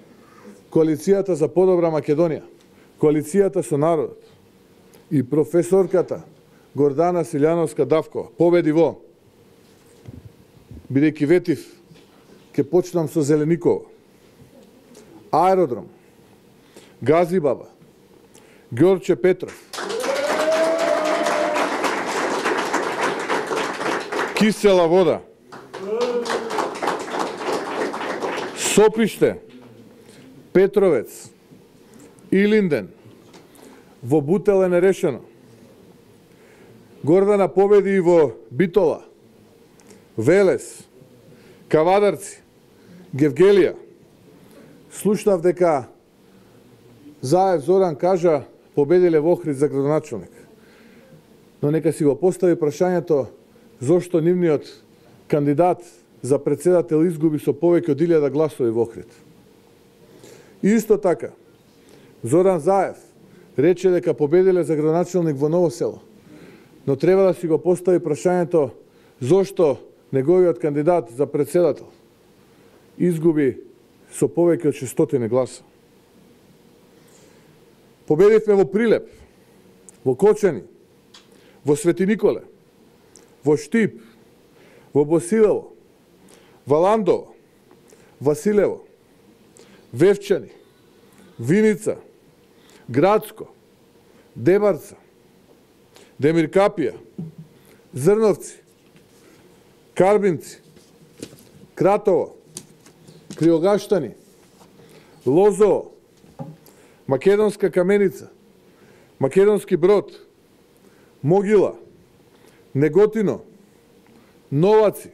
Коалицијата за подобра Македонија, Коалицијата со народот и професорката Гордана Силјановска-Давкова победи во, бидејќи ветив, ќе почнам со Зеленикова, Аеродром, Газибаба, Ѓорче Петров, Кисела вода, Сопиште, Петровец, Илинден, во Бутел е нерешено. Гордана победи и во Битола, Велес, Кавадарци, Гевгелија. Слушнав дека Заев Зоран кажа победиле во Охрид за градоначалник. Но нека си го постави прашањето зошто нивниот кандидат за председател изгуби со повеќе од илјада гласови во Охрид. Исто така, Зоран Заев рече дека победиле за градоначалник во Ново село, но треба да си го постави прашањето зошто неговиот кандидат за председател изгуби со повеќе од шестстотини гласа. Победивме во Прилеп, во Кочани, во Свети Николе, во Штип, во Босилево, Валандово, Василево, Вевчани, Виница, Градско, Дебарца, Демиркапија, Зрновци, Карбинци, Кратово, Криогаштани, Лозово, Македонска Каменица, Македонски Брод, Могила, Неготино, Новаци,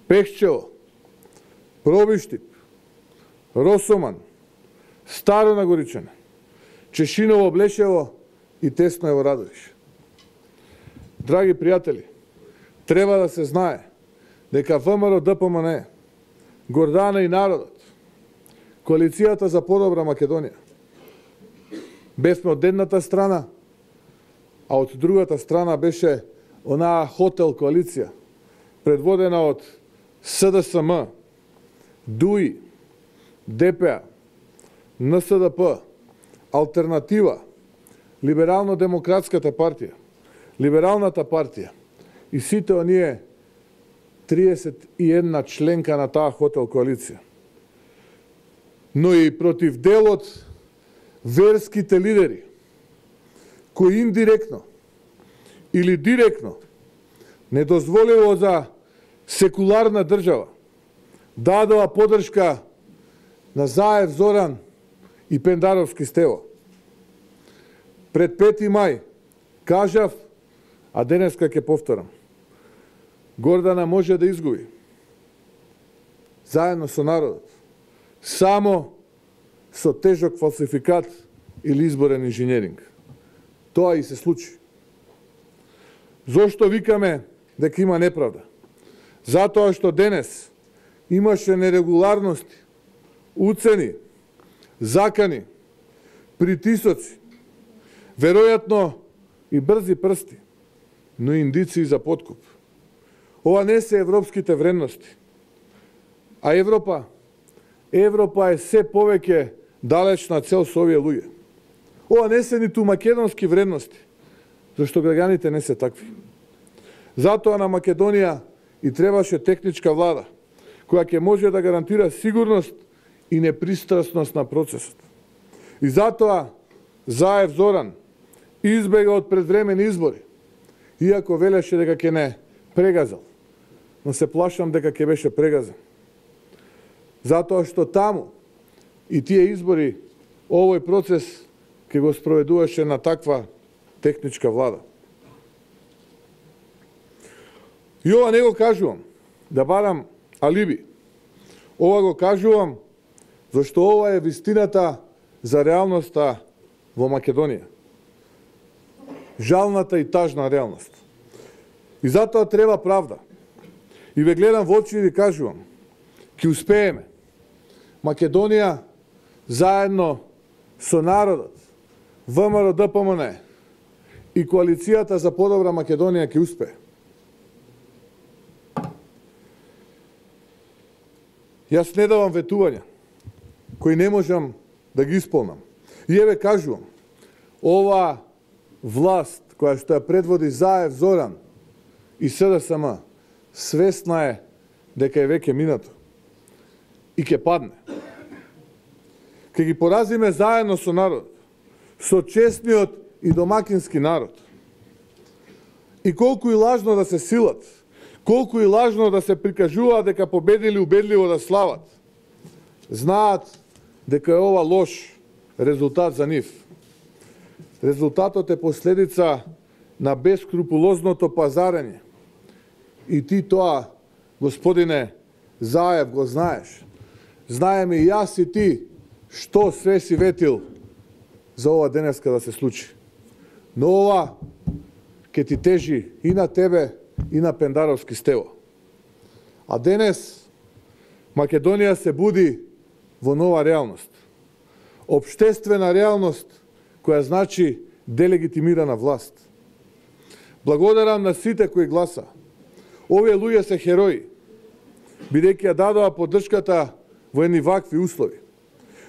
Пехчево, Пробиштип, Росоман, Старо Нагоричане, Чешиново, Блешево и Тесноево, Радовиш. Драги пријатели, треба да се знае дека ВМРО Д П М Н, Гордана и народот, Коалицијата за подобра Македонија, бевме од едната страна, а од другата страна беше онаа хотел коалиција, предводена од С Д С М, Д У И, Д П А, Н С Д П, Алтернатива, Либерално-демократската партија, Либералната партија и сите оние триесет и една членка на таа хотел коалиција. Но и против делот верските лидери, кои индиректно или директно не дозволиво за секуларна држава дадоа подршка на Заев Зоран и Пендаровски Стево. Пред пети мај кажав, а денеска ќе повторам, Гордана може да изгуби заедно со народот, само со тежок фалсификат или изборен инженеринг. Тоа и се случи. Зошто викаме дека има неправда? Затоа што денес имаше нерегуларности, уцени, закани, притисоци, веројатно и брзи прсти, но индиции за подкуп. Ова не се европските вредности. А Европа, Европа е се повеќе далечна цел со овие луѓе. Ова не се ниту македонски вредности, зашто граѓаните не се такви. Затоа на Македонија и требаше техничка влада, која ќе може да гарантира сигурност и непристрасност на процесот. И затоа Заев Зоран избега од предвремени избори, иако велеше дека ќе не прегазал, но се плашам дека ќе беше прегазан. Затоа што таму и тие избори, овој процес ке го спроведуваше на таква техничка влада. И ова не го кажувам да барам алиби. Ова го кажувам зашто ова е вистината за реалноста во Македонија. Жалната и тажна реалност. И затоа треба правда. И ве гледам во очи и ви кажувам, ќе успееме. Македонија заедно со народот, ВМРО Д П М Н и коалицијата за подобра Македонија ќе успее. Јас не давам ветувања кои не можам да ги исполнам. И еве кажувам, ова власт која што ја предводи Заев Зоран и С Д С М свесна е дека е веќе минато и ќе падне. Ке ги поразиме заедно со народ, со честниот и домакински народ. И колку и лажно да се силат, колку и лажно да се прикажуваат дека победили убедливо да слават, знаат дека е ова лош резултат за нив. Резултатот е последица на бескрупулозното пазарење. И ти тоа, господине Заев, го знаеш. Знаеме и јас и ти што све си ветил за ова денеска да се случи. Но ова ќе ти тежи и на тебе, и на Пендаровски Стево. А денес Македонија се буди во нова реалност. Обштествена реалност која значи делегитимирана власт. Благодарам на сите кои гласа. Овие луѓе се херои, бидејќи ја дадоа поддршката во едни вакви услови.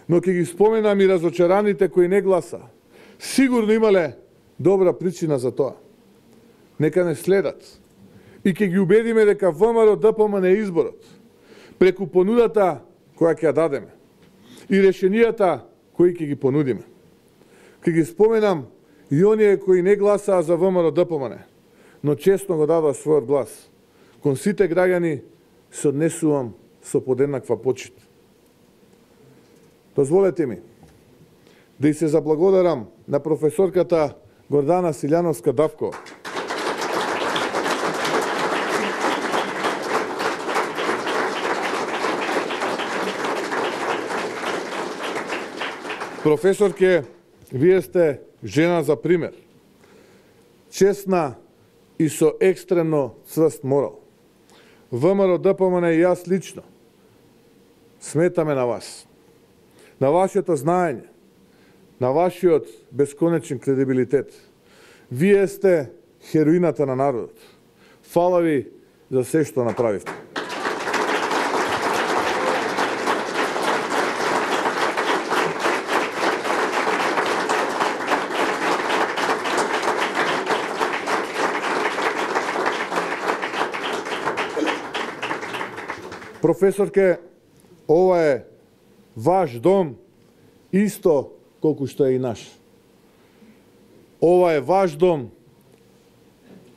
Но ќе ги споменам и разочараните кои не гласа. Сигурно имале добра причина за тоа. Нека не следат. И ќе ги убедиме дека ВМРО Д П М Н е изборот, преку понудата која ќе ја дадеме и решенијата кои ќе ги понудиме. Ќе ги споменам и оние кои не гласаа за ВМРО Д П М Н, но честно го дадоа својот глас. Кон сите граѓани се однесувам со подеднаква почит. Дозволете ми да и се заблагодарам на професорката Гордана Силјановска-Давкова. Професорке, вие сте жена за пример. Честна и со екстремно цврст морал. ВМРО Д П М Н и јас лично сметаме на вас. На вашето знаење, на вашиот бесконечен кредибилитет. Вие сте хероината на народот. Фала ви за се што направивте. Професорке, ова е ваш дом, исто колку што е и наш. Ова е ваш дом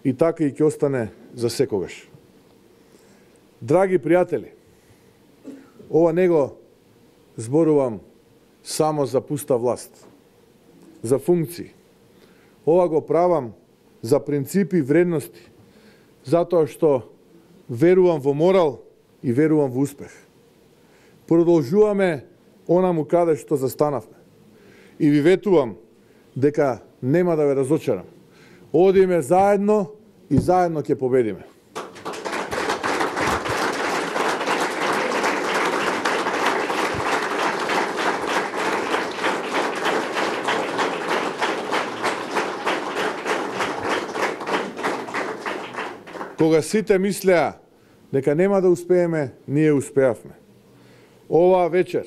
и така и ќе остане за секогаш. Драги пријатели, ова не го зборувам само за пуста власт, за функции. Ова го правам за принципи и вредности, затоа што верувам во морал и верувам во успех. Продолжуваме онаму каде што застанавме. И ви ветувам дека нема да ве разочарам. Одиме заедно и заедно ќе победиме. Кога сите мислеа дека нема да успееме, ние успеавме. Оваа вечер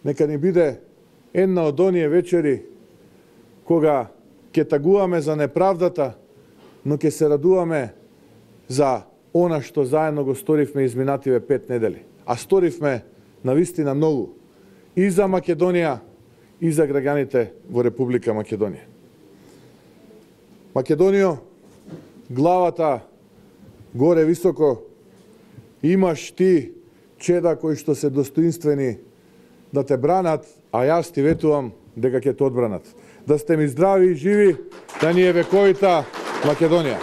нека ни биде една од оние вечери кога ќе тагуваме за неправдата, но ќе се радуваме за она што заедно го сторивме изминативе пет недели. А сторивме навистина многу и за Македонија и за граѓаните во Република Македонија. Македонијо, главата горе високо, имаш ти чеда кои што се достоинствени да те бранат, а јас ти ветувам дека ќе те одбранат. Да сте ми здрави и живи, да ни е вековита Македонија.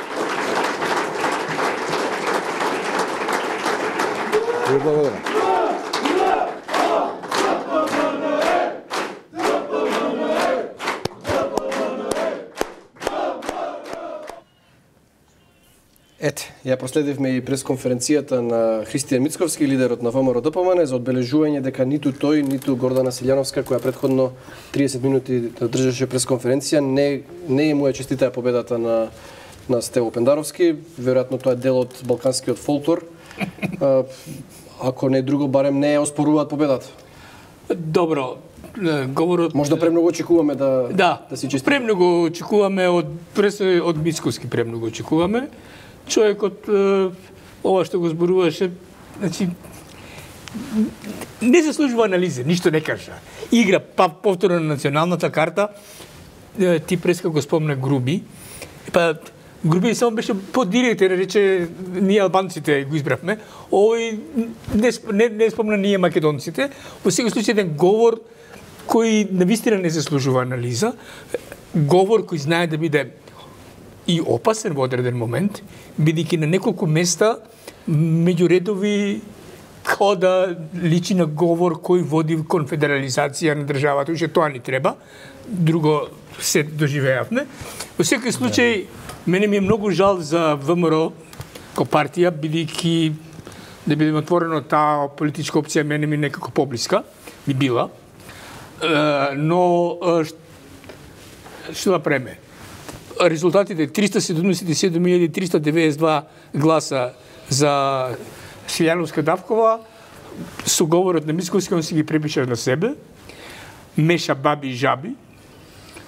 Ви благодарам. Ете, ја проследивме и пресконференцијата на Христијан Мицковски, лидерот на ВМРО Д П М Н, за одбележување дека ниту тој, ниту Гордана Силјановска, која претходно триесет минути држеше пресконференција, не не му ја честитаа победата на на Стево Пендаровски. Веројатно тоа е дел од балканскиот фолклор. Ако не друго, барем не ја оспоруваат победата. Добро, говорот... Може да премногу очекуваме да да, да си честитаме. Премногу очекуваме од прес од Мицковски, премногу очекуваме. Човекот, ова што го зборуваше, значи, не заслужува анализа, ништо не кажа. Игра па повторно на националната карта, ти преска го спомна Груби, па Груби само беше подиректен, рече, ние албанците го избравме, овој не, не, не спомна ние македонците, во секој случај еден говор кој навистина не заслужува анализа, говор кој знае да биде и опасен во одреден момент, бидејќи на неколку места меѓуредови као да личи на говор кој води конфедерализација на државата, уште тоа ни треба, друго се доживеавме. Во секој случај, мене ми е многу жал за ВМРО ко партија, бидејќи да бидеме отворено, таа политичка опција мене ми некако поблиска, би била, но што да преме? Резултатите триста седумдесет и седум илјади триста деветдесет и два гласа за Силјановска Давкова, со говорот на Мицковски, он си ги препиша на себе, меша баби и жаби,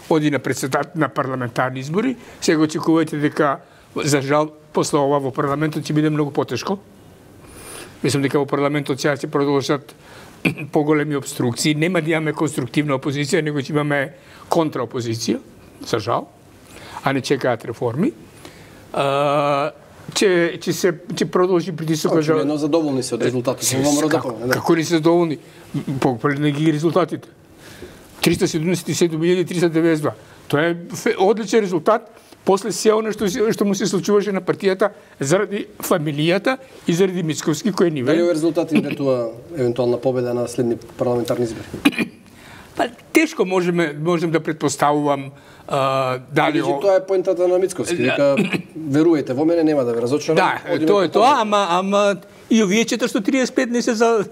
оди на председател на парламентарни избори. Сега очекувате дека, за жал, после ова во парламентот ќе биде многу потешко. Мислам дека во парламентот сега ќе продолжат поголеми обструкции. Нема да имаме конструктивна опозиција, него ќе имаме контраопозиција, за жал, а не чекаат реформи. А, че, че се че продолжи притисокот. Очигледно задоволни се од резултатот. Како, како не се задоволни? Погледни ги резултатите. триста седумдесет и седум илјади триста деветдесет и два. Тоа е одличен резултат после се она што што му се случуваше на партијата заради фамилијата и заради Мицковски кој ни ве. Дали резултати инветува евентуална победа на следни парламентарни избори? Па тешко можеме можем да претпоставувам а, дали о... тоа е поентата на Мицковски, дека веруете во мене, нема да ве разочарам. Да, тоа е тоа, ама ама и овие четиристотини триесет и пет не се за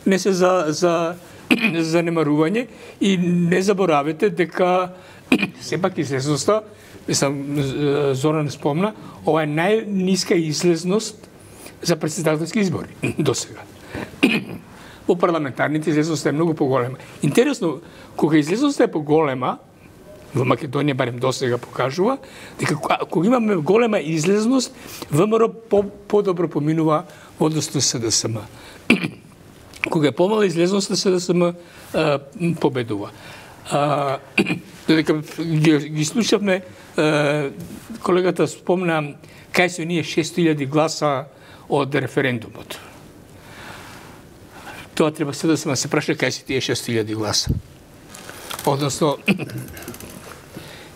не се за за занемарување и не заборавете дека сепак излезноста, мислам Зоран спомна, ова е најниска излезност за претседателски избори до сега. Во парламентарните излезноста е многу поголема. Интересно, кога излезноста е поголема, во Македонија барем до сега покажува, дека кога имаме голема излезност, ВМРО по, подобро поминува во однос на С Д С М. Кога е помала излезност на С Д С М, победува. А, додека ги, ги слушавме, а, колегата спомна кај се оние шест илјади гласа од референдумот. Тоа треба се да се се праша кај се тие шест илјади гласа. Односно,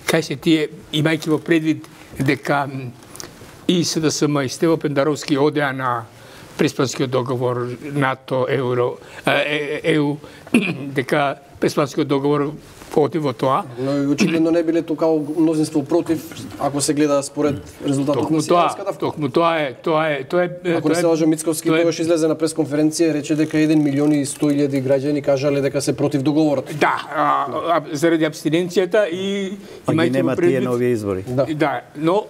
кај се тие, имајќи во предвид дека и С Д С М и Стево Пендаровски одеа на Преспанскиот договор, НАТО, Евро, Е У, дека Преспанскиот договор оди во тоа. Но очигледно не биле токао мнозинство против, ако се гледа според резултатот на Силјановска Давкова. Токму тоа е, тоа е, тоа е. Ако не се лажам, Мицковски тогаш излезе на пресконференција и рече дека еден милион и сто илјади граѓани кажале дека се против договорот. Да, а, а, заради абстиненцијата и имајте нема тие нови избори. Да. Да, но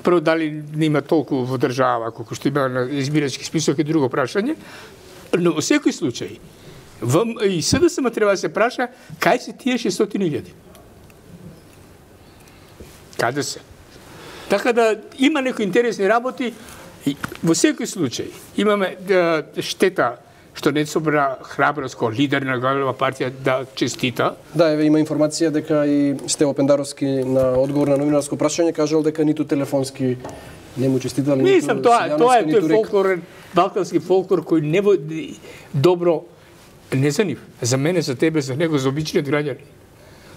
прво дали не има толку во држава колку што има на избирачки список е друго прашање, но во секој случај и С Д С М треба да се праша кај се тие шестстотини илјади. Каде се? Така да има некои интересни работи. Во секој случај имаме да, штета што не собра храброст како лидер на голема партија да честита. Да, еве има информација дека и Стево Пендаровски на одговор на новинарско прашање кажал дека ниту телефонски не му честитали. Мислам, тоа, тоа е тој фолклорен, балкански фолклор кој не води добро Не за нив, за мене, за тебе, за него, за обичниот граѓани.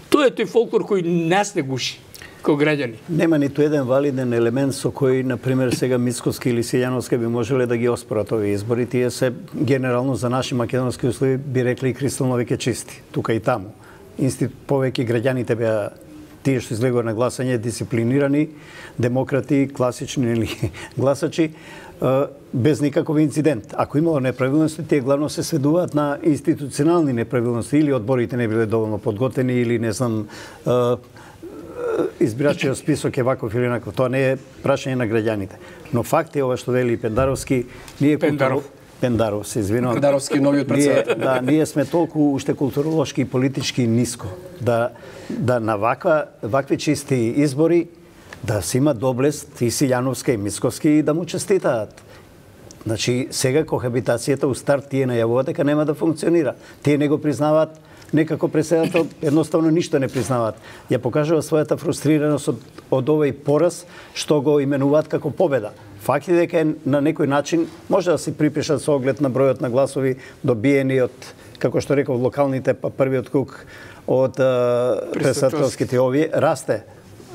Тоа е тој фолклор кој нас не гуши, како граѓани. Нема ниту еден валиден елемент со кој, например, сега Мицкоски или Силјановска би можеле да ги оспорат овие избори. Тие се генерално за наши македонски услови би рекли кристално веќе чисти, тука и таму. Институт повеќе граѓаните беа тие што излегува на гласање, дисциплинирани, демократи, класични или гласачи, без никаков инцидент. Ако имало неправилности, тие главно се сведуваат на институционални неправилности, или одборите не биле доволно подготвени, или не знам, избирачиот список е ваков или наков. Тоа не е прашање на граѓаните. Но факт е ова што вели Пендаровски, ние Пендаров. Културо... Пендаров, се извинувам. Пендаровски новиот председател. Да, ние сме толку уште културолошки и политички ниско да да на ваква вакви чисти избори да се има доблест и Силјановска и Мицкоски и да му честитаат. Значи, сега кохабитацијата у старт тие најавуваат дека нема да функционира. Тие не го признаваат, некако председател едноставно ништо не признаваат. Ја покажува својата фрустрираност од, од овој пораз што го именуваат како победа. Факт е дека на некој начин може да се припишат со оглед на бројот на гласови добиени од, како што реков, локалните, па првиот круг од председателските овие, расте,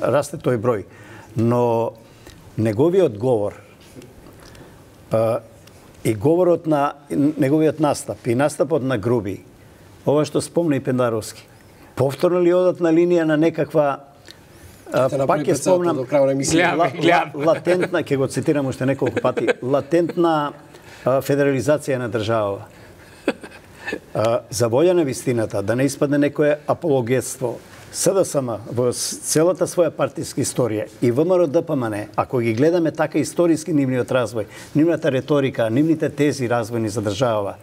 расте тој број. Но неговиот говор па, и говорот на неговиот настап и настапот на Груби, ова што спомна и Пендаровски, повторно ли одат на линија на некаква А, пак ќе спомнам, ла, ла, латентна, ќе го цитирам уште неколку пати, латентна а, федерализација на држава. А, за волја на вистината, да не испадне некое апологетство, СДСМ во целата своја партиска историја и ВМРО ДПМН, ако ги гледаме така историски нивниот развој, нивната реторика, нивните тези развојни за држава,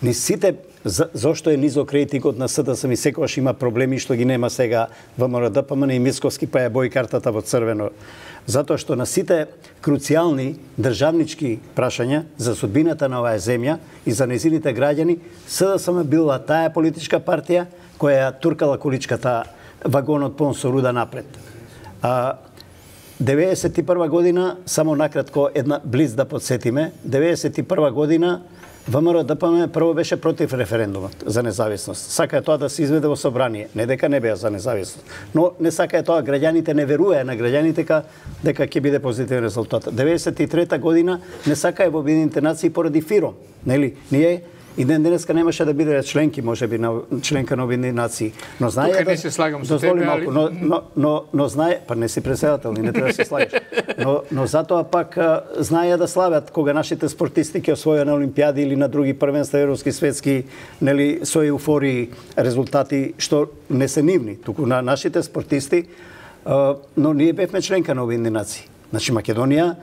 ни сите за, зошто е низок рейтингот на СДСМ и секогаш има проблеми што ги нема сега ВМРО ДПМН и Мицкоски, па ја бои картата во црвено. Затоа што на сите круцијални државнички прашања за судбината на оваа земја и за незините граѓани, СДСМ била таа политичка партија која ја туркала количката вагонот пон со руда напред. А, деветдесет и прва година, само накратко една блиц да подсетиме, деветдесет и прва година ВМРО ДПМН прво беше против референдумот за независност. Сака е тоа да се изведе во собрание, не дека не беа за независност. Но не сака е тоа, граѓаните не веруеа на граѓаните дека дека ќе биде позитивен резултат. деветдесет и трета година не сака е во Обединетите нации поради ФИРОМ, нели? Ние и ден денеска немаше да биде членки, можеби на членка на Обединетите нации. Но знае Тука да не се слагам со тебе, малку, но но но но знае, па не си председател, не треба да се слагаш. Но но затоа пак знае да слават кога нашите спортисти ќе освојат на олимпијади или на други првенства европски, светски, нели, со еуфории резултати што не се нивни, туку на нашите спортисти, но ние бевме членка на Обединетите нации. Значи Македонија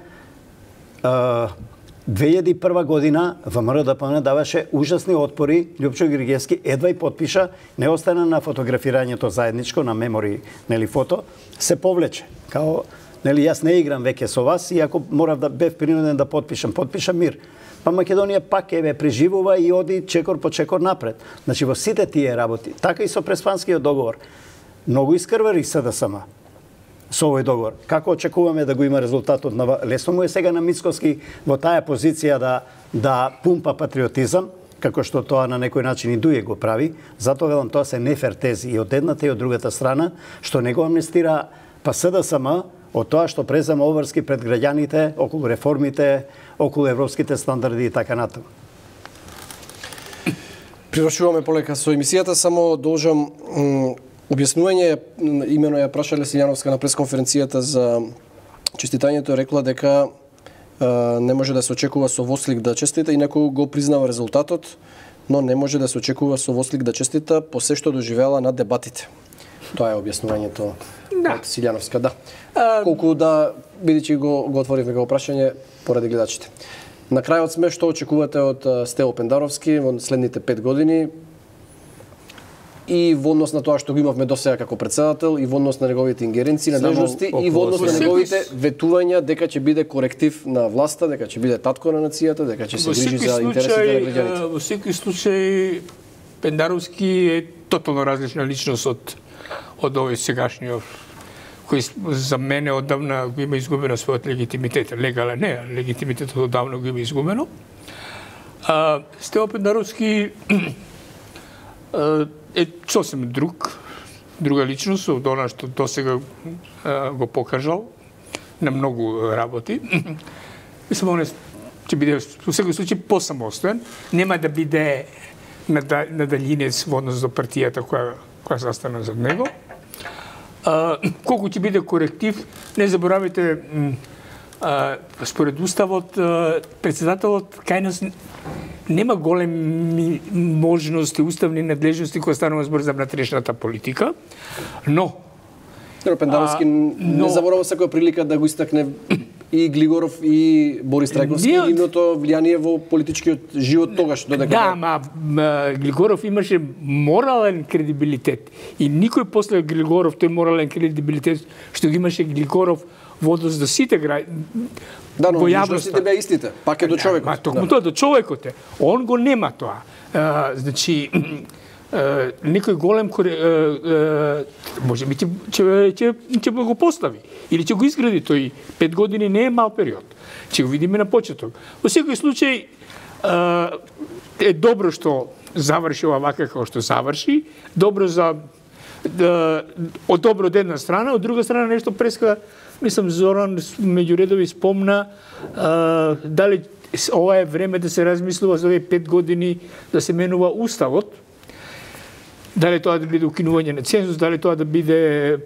две илјади и прва година ВМРО ДПМН даваше ужасни отпори, Љупчо Григевски едва и потпиша, не остана на фотографирањето заедничко на мемори, нели, фото, се повлече. Као, нели, јас не играм веќе со вас, иако морав да бев принуден да потпишам, потпишам мир. Па Македонија пак еве преживува и оди чекор по чекор напред. Значи во сите тие работи, така и со Преспанскиот договор, многу искрвари СДСМ со овој договор. Како очекуваме да го има резултатот на лесно му е сега на Мицкоски во таа позиција да да пумпа патриотизам, како што тоа на некој начин и Дује го прави. Затоа велам, тоа се нефер тези и од едната и од другата страна, што не го амнестира па СДСМ од тоа што презема обврски пред граѓаните околу реформите, околу европските стандарди и така натаму. Привршуваме полека со емисијата, само должам објаснување, имено ја прашале Силјановска на пресконференцијата за честитањето, рекла дека а, не може да се очекува со вослик да честита, инаку го признава резултатот, но не може да се очекува со вослик да честита по се што доживела на дебатите. Тоа е објаснувањето да. од Силјановска, да. А... Колку да, бидејќи го, го отворивме го прашање поради гледачите. На крајот сме, што очекувате од Стево Пендаровски во следните пет години, и во однос на тоа што го имавме до сега како председател, и во однос на неговите ингеренции, надлежности, и во однос на неговите ветувања дека ќе биде коректив на власта, дека ќе биде татко на нацијата, дека ќе се грижи за интересите на граѓаните. Во секој случај Пендаровски е тотално различна личност од од овој сегашниот, кој за мене одавна го има изгубено својот легитимитет, легален не, легитимитетот одавна го има изгубено. А Стево Пендаровски е сосем друг, друга личност од она што досега го покажал на многу работи. Мислам, он ќе биде во секој случај посамостоен, нема да биде надалинец во однос до партијата која која застана зад него. А, колку ќе биде коректив, не заборавайте, а, според уставот, председателот кај нас нема големи можности, уставни надлежности кога станува збор за внатрешната политика, но Пендаровски а, но... не заборава секоја прилика да го истакне и Глигоров и Борис Трајковски и нивното влијание во политичкиот живот тогаш додека. Да, ма, ма Глигоров имаше морален кредибилитет и никој после Глигоров тој морален кредибилитет што ги имаше Глигоров во однос до сите граѓани. Да, но личностите беа истите, пак е до човекот. Ма токму тоа до човекот е. Он го нема тоа. А, значи Uh, некој голем uh, uh, може би ќе ќе ќе го постави или ќе го изгради, тој пет години не е мал период. Ќе го видиме на почеток. Во секој случај uh, е добро што заврши ова вака како што заврши, добро за да, од добро од една страна, од друга страна нешто преска, мислам Зоран меѓу редови спомна uh, дали ова е време да се размислува за овие пет години да се менува уставот. Дали тоа да биде укинување на цензус, дали тоа да биде е,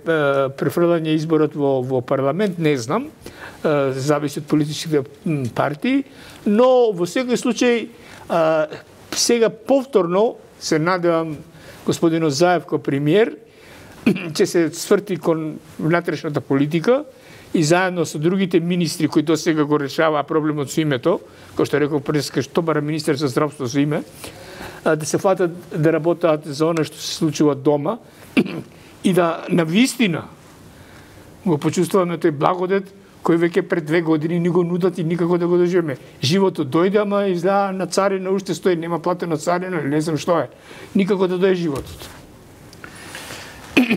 префрлање изборот во, во парламент, не знам. Е, зависи од политичките партии. Но во секој случај, е, сега повторно се надевам господинот Заев како премиер ќе се сврти кон внатрешната политика и заедно со другите министри кои досега го решаваа проблемот со името, кој што реков преска што бара министер за здравство со име, да се фатат да работат за оно што се случува дома и да на вистина го почувствуваме тој благодет кој веќе пред две години ни го нудат и никако да го доживеме. Животот дојде, ама изгледа на царина уште стои, нема платена царина, не знам што е. Никако да дојде животот.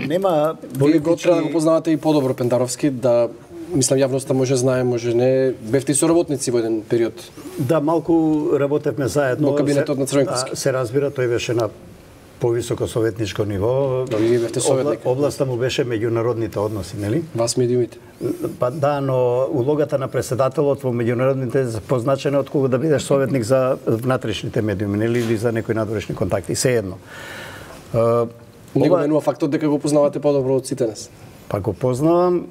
Нема Вие го треба да го познавате и подобро Пендаровски, да мислам јавноста може знае, може не, бевте и соработници во еден период. Да, малку работевме заедно во кабинетот на Црвенковски. Се разбира, тој беше на повисоко советничко ниво. Да, вие бевте советник. Областа му беше меѓународните односи, нели? Вас медиумите. Па да, но улогата на председателот во меѓународните е позначена од кога да бидеш советник за внатрешните медиуми, нели, или за некои надворешни контакти, сеедно. Не го менува фактот дека го познавате подобро од сите нас. Па го познавам.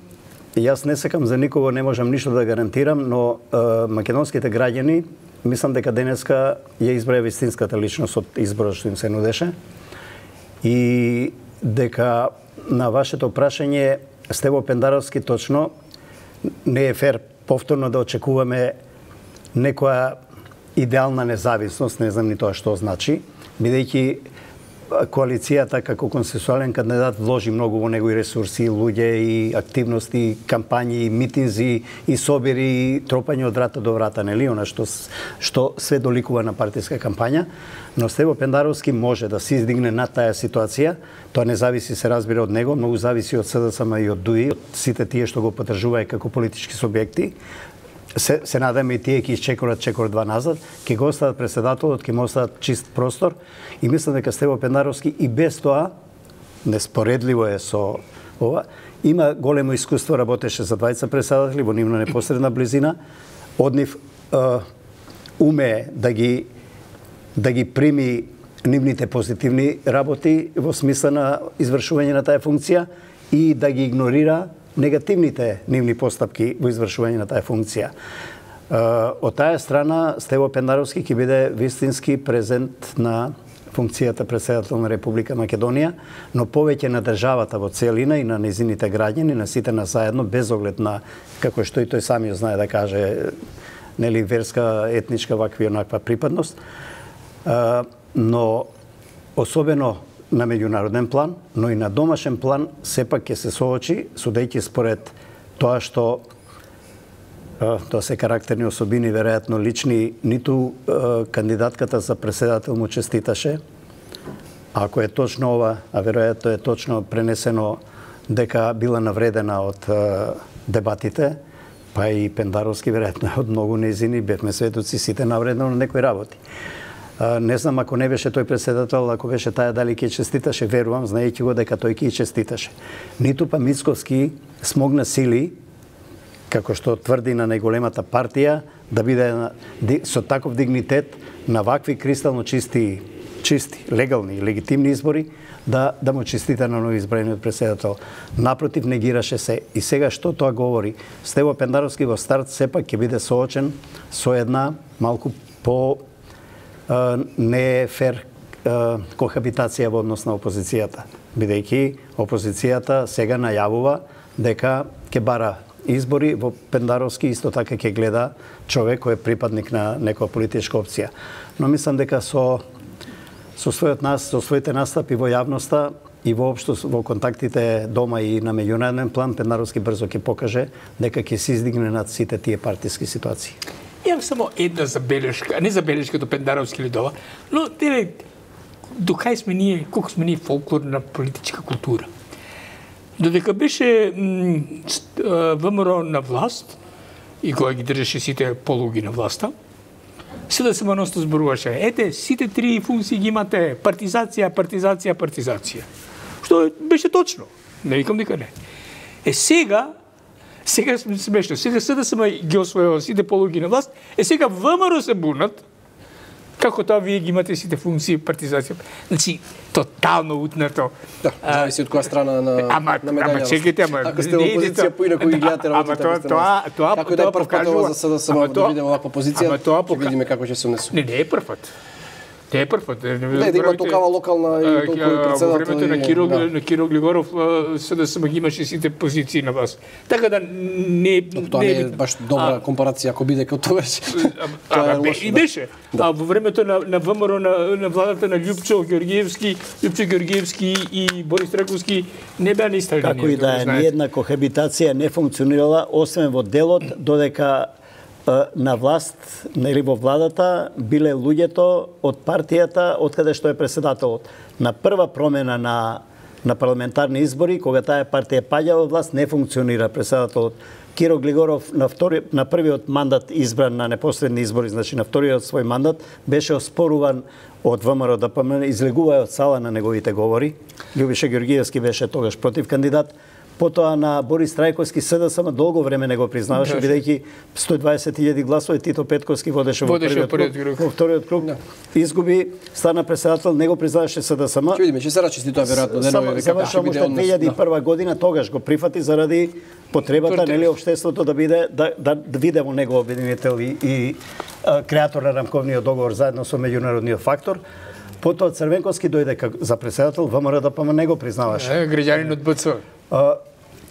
Јас не сакам за никого, не можам ништо да гарантирам, но е, македонските граѓани, мислам дека денеска ја избраја вистинската личност од изборот што им се нудеше. И дека на вашето прашање, Стево Пендаровски точно не е фер повторно да очекуваме некоја идеална независност, не знам ни тоа што значи, бидејќи коалицијата како консенсуален кандидат вложи многу во него и ресурси, и луѓе, и активности, и кампањи, и митинзи, и собери, и тропање од врата до врата, нели, она што што све доликува на партиска кампања, но Стево Пендаровски може да се издигне над таа ситуација. Тоа не зависи, се разбира, од него, многу зависи од СДСМ и од ДУИ, од сите тие што го поддржуваат како политички субјекти. Се, се надаме и тие ќе изчекорат чекор два назад, ќе го остават председателот, ќе му остават чист простор и мислам дека Стево Пендаровски и без тоа, неспоредливо е со ова, има големо искуство, работеше за двајца председатели во нивна непосредна близина, од нив е, умее да ги да ги прими нивните позитивни работи во смисла на извршување на таа функција и да ги игнорира негативните нивни постапки во извршување на таа функција. Од таа страна, Стево Пендаровски ќе биде вистински презент на функцијата председател на Република Македонија, но повеќе на државата во целина и на незините граѓани, на сите нас заедно, без оглед на, како што и тој самиот знае да каже, нели, верска, етничка, ваква и онаква припадност. Но, особено на меѓународен план, но и на домашен план, сепак ќе се соочи, судејќи според тоа што тоа се карактерни особини, веројатно лични, ниту кандидатката за председател му честиташе. Ако е точно ова, а веројатно е точно пренесено дека била навредена од дебатите, па и Пендаровски веројатно од многу нејзини бевме сведоци сите навредено на некои работи. Не знам ако не беше тој председател, ако беше таја дали ќе честиташе, верувам, знаејќи го дека тој ќе честиташе. Ниту па Мицковски смогна сили, како што тврди на најголемата партија, да биде со таков дигнитет на вакви кристално чисти, чисти, легални и легитимни избори, да, да му честита на новоизбраниот председател. Напротив, негираше се. И сега што тоа говори? Стево Пендаровски во старт сепак ќе биде соочен со една малку по не е фер кохабитација во однос на опозицијата, бидејќи опозицијата сега најавува дека ќе бара избори, во Пендаровски исто така ќе гледа човек кој е припадник на некоја политичка опција. Но мислам дека со со својот нас, со своите настапи во јавноста и воопшто во контактите дома и на меѓународен план, Пендаровски брзо ќе покаже дека ќе се издигне над сите тие партиски ситуации. Имам само една забелешка, не забелешка до Пендаровски лидова, но теле, до кај сме ние, колку сме ние фолклорна политичка култура. Додека беше ВМРО на власт и кога ги држеше сите полуги на власта, се да се маносто зборуваше. Ете, сите три функции ги имате. Партизација, партизација, партизација. Што беше точно. Не викам дека не. Е сега, сега сме смешно, сега СДСМ ги освојува сите полуги на власт, е сега ВМРО се бунат, како тоа вие ги имате сите функции партизација. Значи, тотално утнато. Да, зависи од која страна на ама, на медаљата. Ама чекайте, ама ако сте во опозиција, поинаку ги гледате работите. Ама тоа тоа како да е прв пат ова за СДСМ да видиме оваква позиција, ќе видиме како ќе се унесува. Не, не е прв пат. Не е прв пат. Не, да има токава локална и толку председател. Во времето на Киро на Киро Глигоров СДСМ ги имаше сите позиции на вас. Така да не тоа не е баш добра компарација ако биде како тогаш. Тоа и беше. А во времето на на ВМРО на на владата на Љупчо Ѓорѓиевски, Љупчо Ѓорѓиевски и Борис Траковски не беа исти. Како и да е, ниедна кохабитација не функционирала освен во делот додека на власт, нели во владата, биле луѓето од партијата од каде што е председателот. На прва промена на на парламентарни избори, кога таа партија паѓа во власт, не функционира председателот. Киро Глигоров на втори на првиот мандат избран на непосредни избори, значи на вториот свој мандат, беше оспоруван од ВМРО да ДПМН, излегува од сала на неговите говори. Љубиша Ѓорѓиевски беше тогаш против кандидат. Потоа на Борис Трајковски СДСМ долго време не го признаваше, бидејќи сто и дваесет илјади гласови, Тито Петковски водеше во првиот круг, во вториот круг, изгуби, стана председател, не го признаваше СДСМ. Ќе видиме, ќе се рачисти тоа веројатно денови како ќе биде однос. две илјади и прва година тогаш го прифати заради потребата, нели, општеството да биде да да виде во него обединител и, и а, креатор на рамковниот договор заедно со меѓународниот фактор. Потоа Црвенковски дојде за председател, ВМРО ДПМ не го признаваше. Граѓанин од БЦ.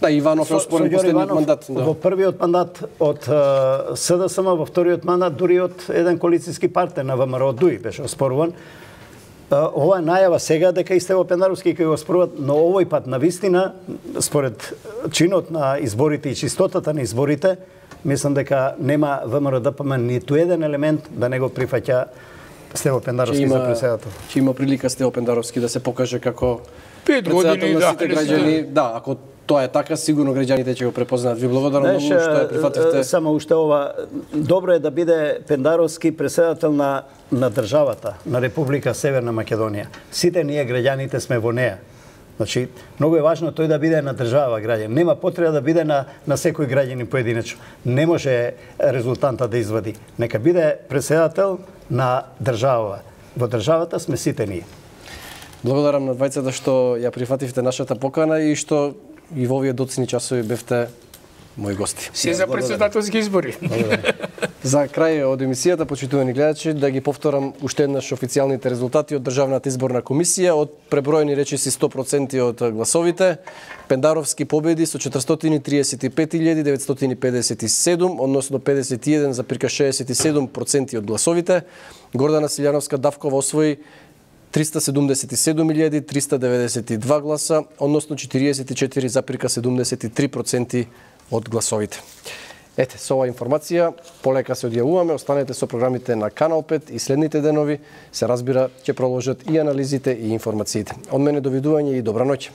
Да, Иванов е оспорен последниот мандат. Да. Во првиот мандат од СДСМ, во вториот мандат дури од еден коалицијски партнер на ВМРО ДУИ беше оспоруван. Ова е најава сега дека и Стево Пендаровски ќе го оспоруват, но овој пат на вистина, според чинот на изборите и чистотата на изборите, мислам дека нема ВМРО ДПМ ниту еден елемент да не го прифаќа Стево Пендаровски за председател. Ќе има прилика Стево Пендаровски да се покаже како пет години на сите граѓани. Да, ако тоа е така, сигурно граѓаните ќе го препознаат. Ви благодарам многу што ја прифативте. Само уште ова, добро е да биде Пендаровски председател на на државата, на Република Северна Македонија. Сите ние граѓаните сме во неа. Значи, многу е важно тој да биде на држава граѓан. Нема потреба да биде на на секој граѓанин поединечно. Не може резултанта да извади. Нека биде председател на држава. Во државата сме сите ние. Благодарам на двајцата што ја прифативте нашата покана и што и во овие доцни часови бевте мои гости. Се за председателски избори. За крај од емисијата, почитувани гледачи, да ги повторам уште еднаш официјалните резултати од Државната изборна комисија. Од преброени речиси сто проценти од гласовите, Пендаровски победи со четиристотини триесет и пет илјади деветстотини педесет и седум, односно педесет и еден запирка шеесет и седум проценти од гласовите. Гордана Силјановска Давкова освои триста седумдесет и седум илјади триста деветдесет и два гласа, односно четириесет и четири запирка седумдесет и три проценти од гласовите. Ете, со оваа информација полека се одјавуваме, останете со програмите на Канал пет и следните денови, се разбира, ќе продолжат и анализите и информациите. Од мене довидување и добра ноќ.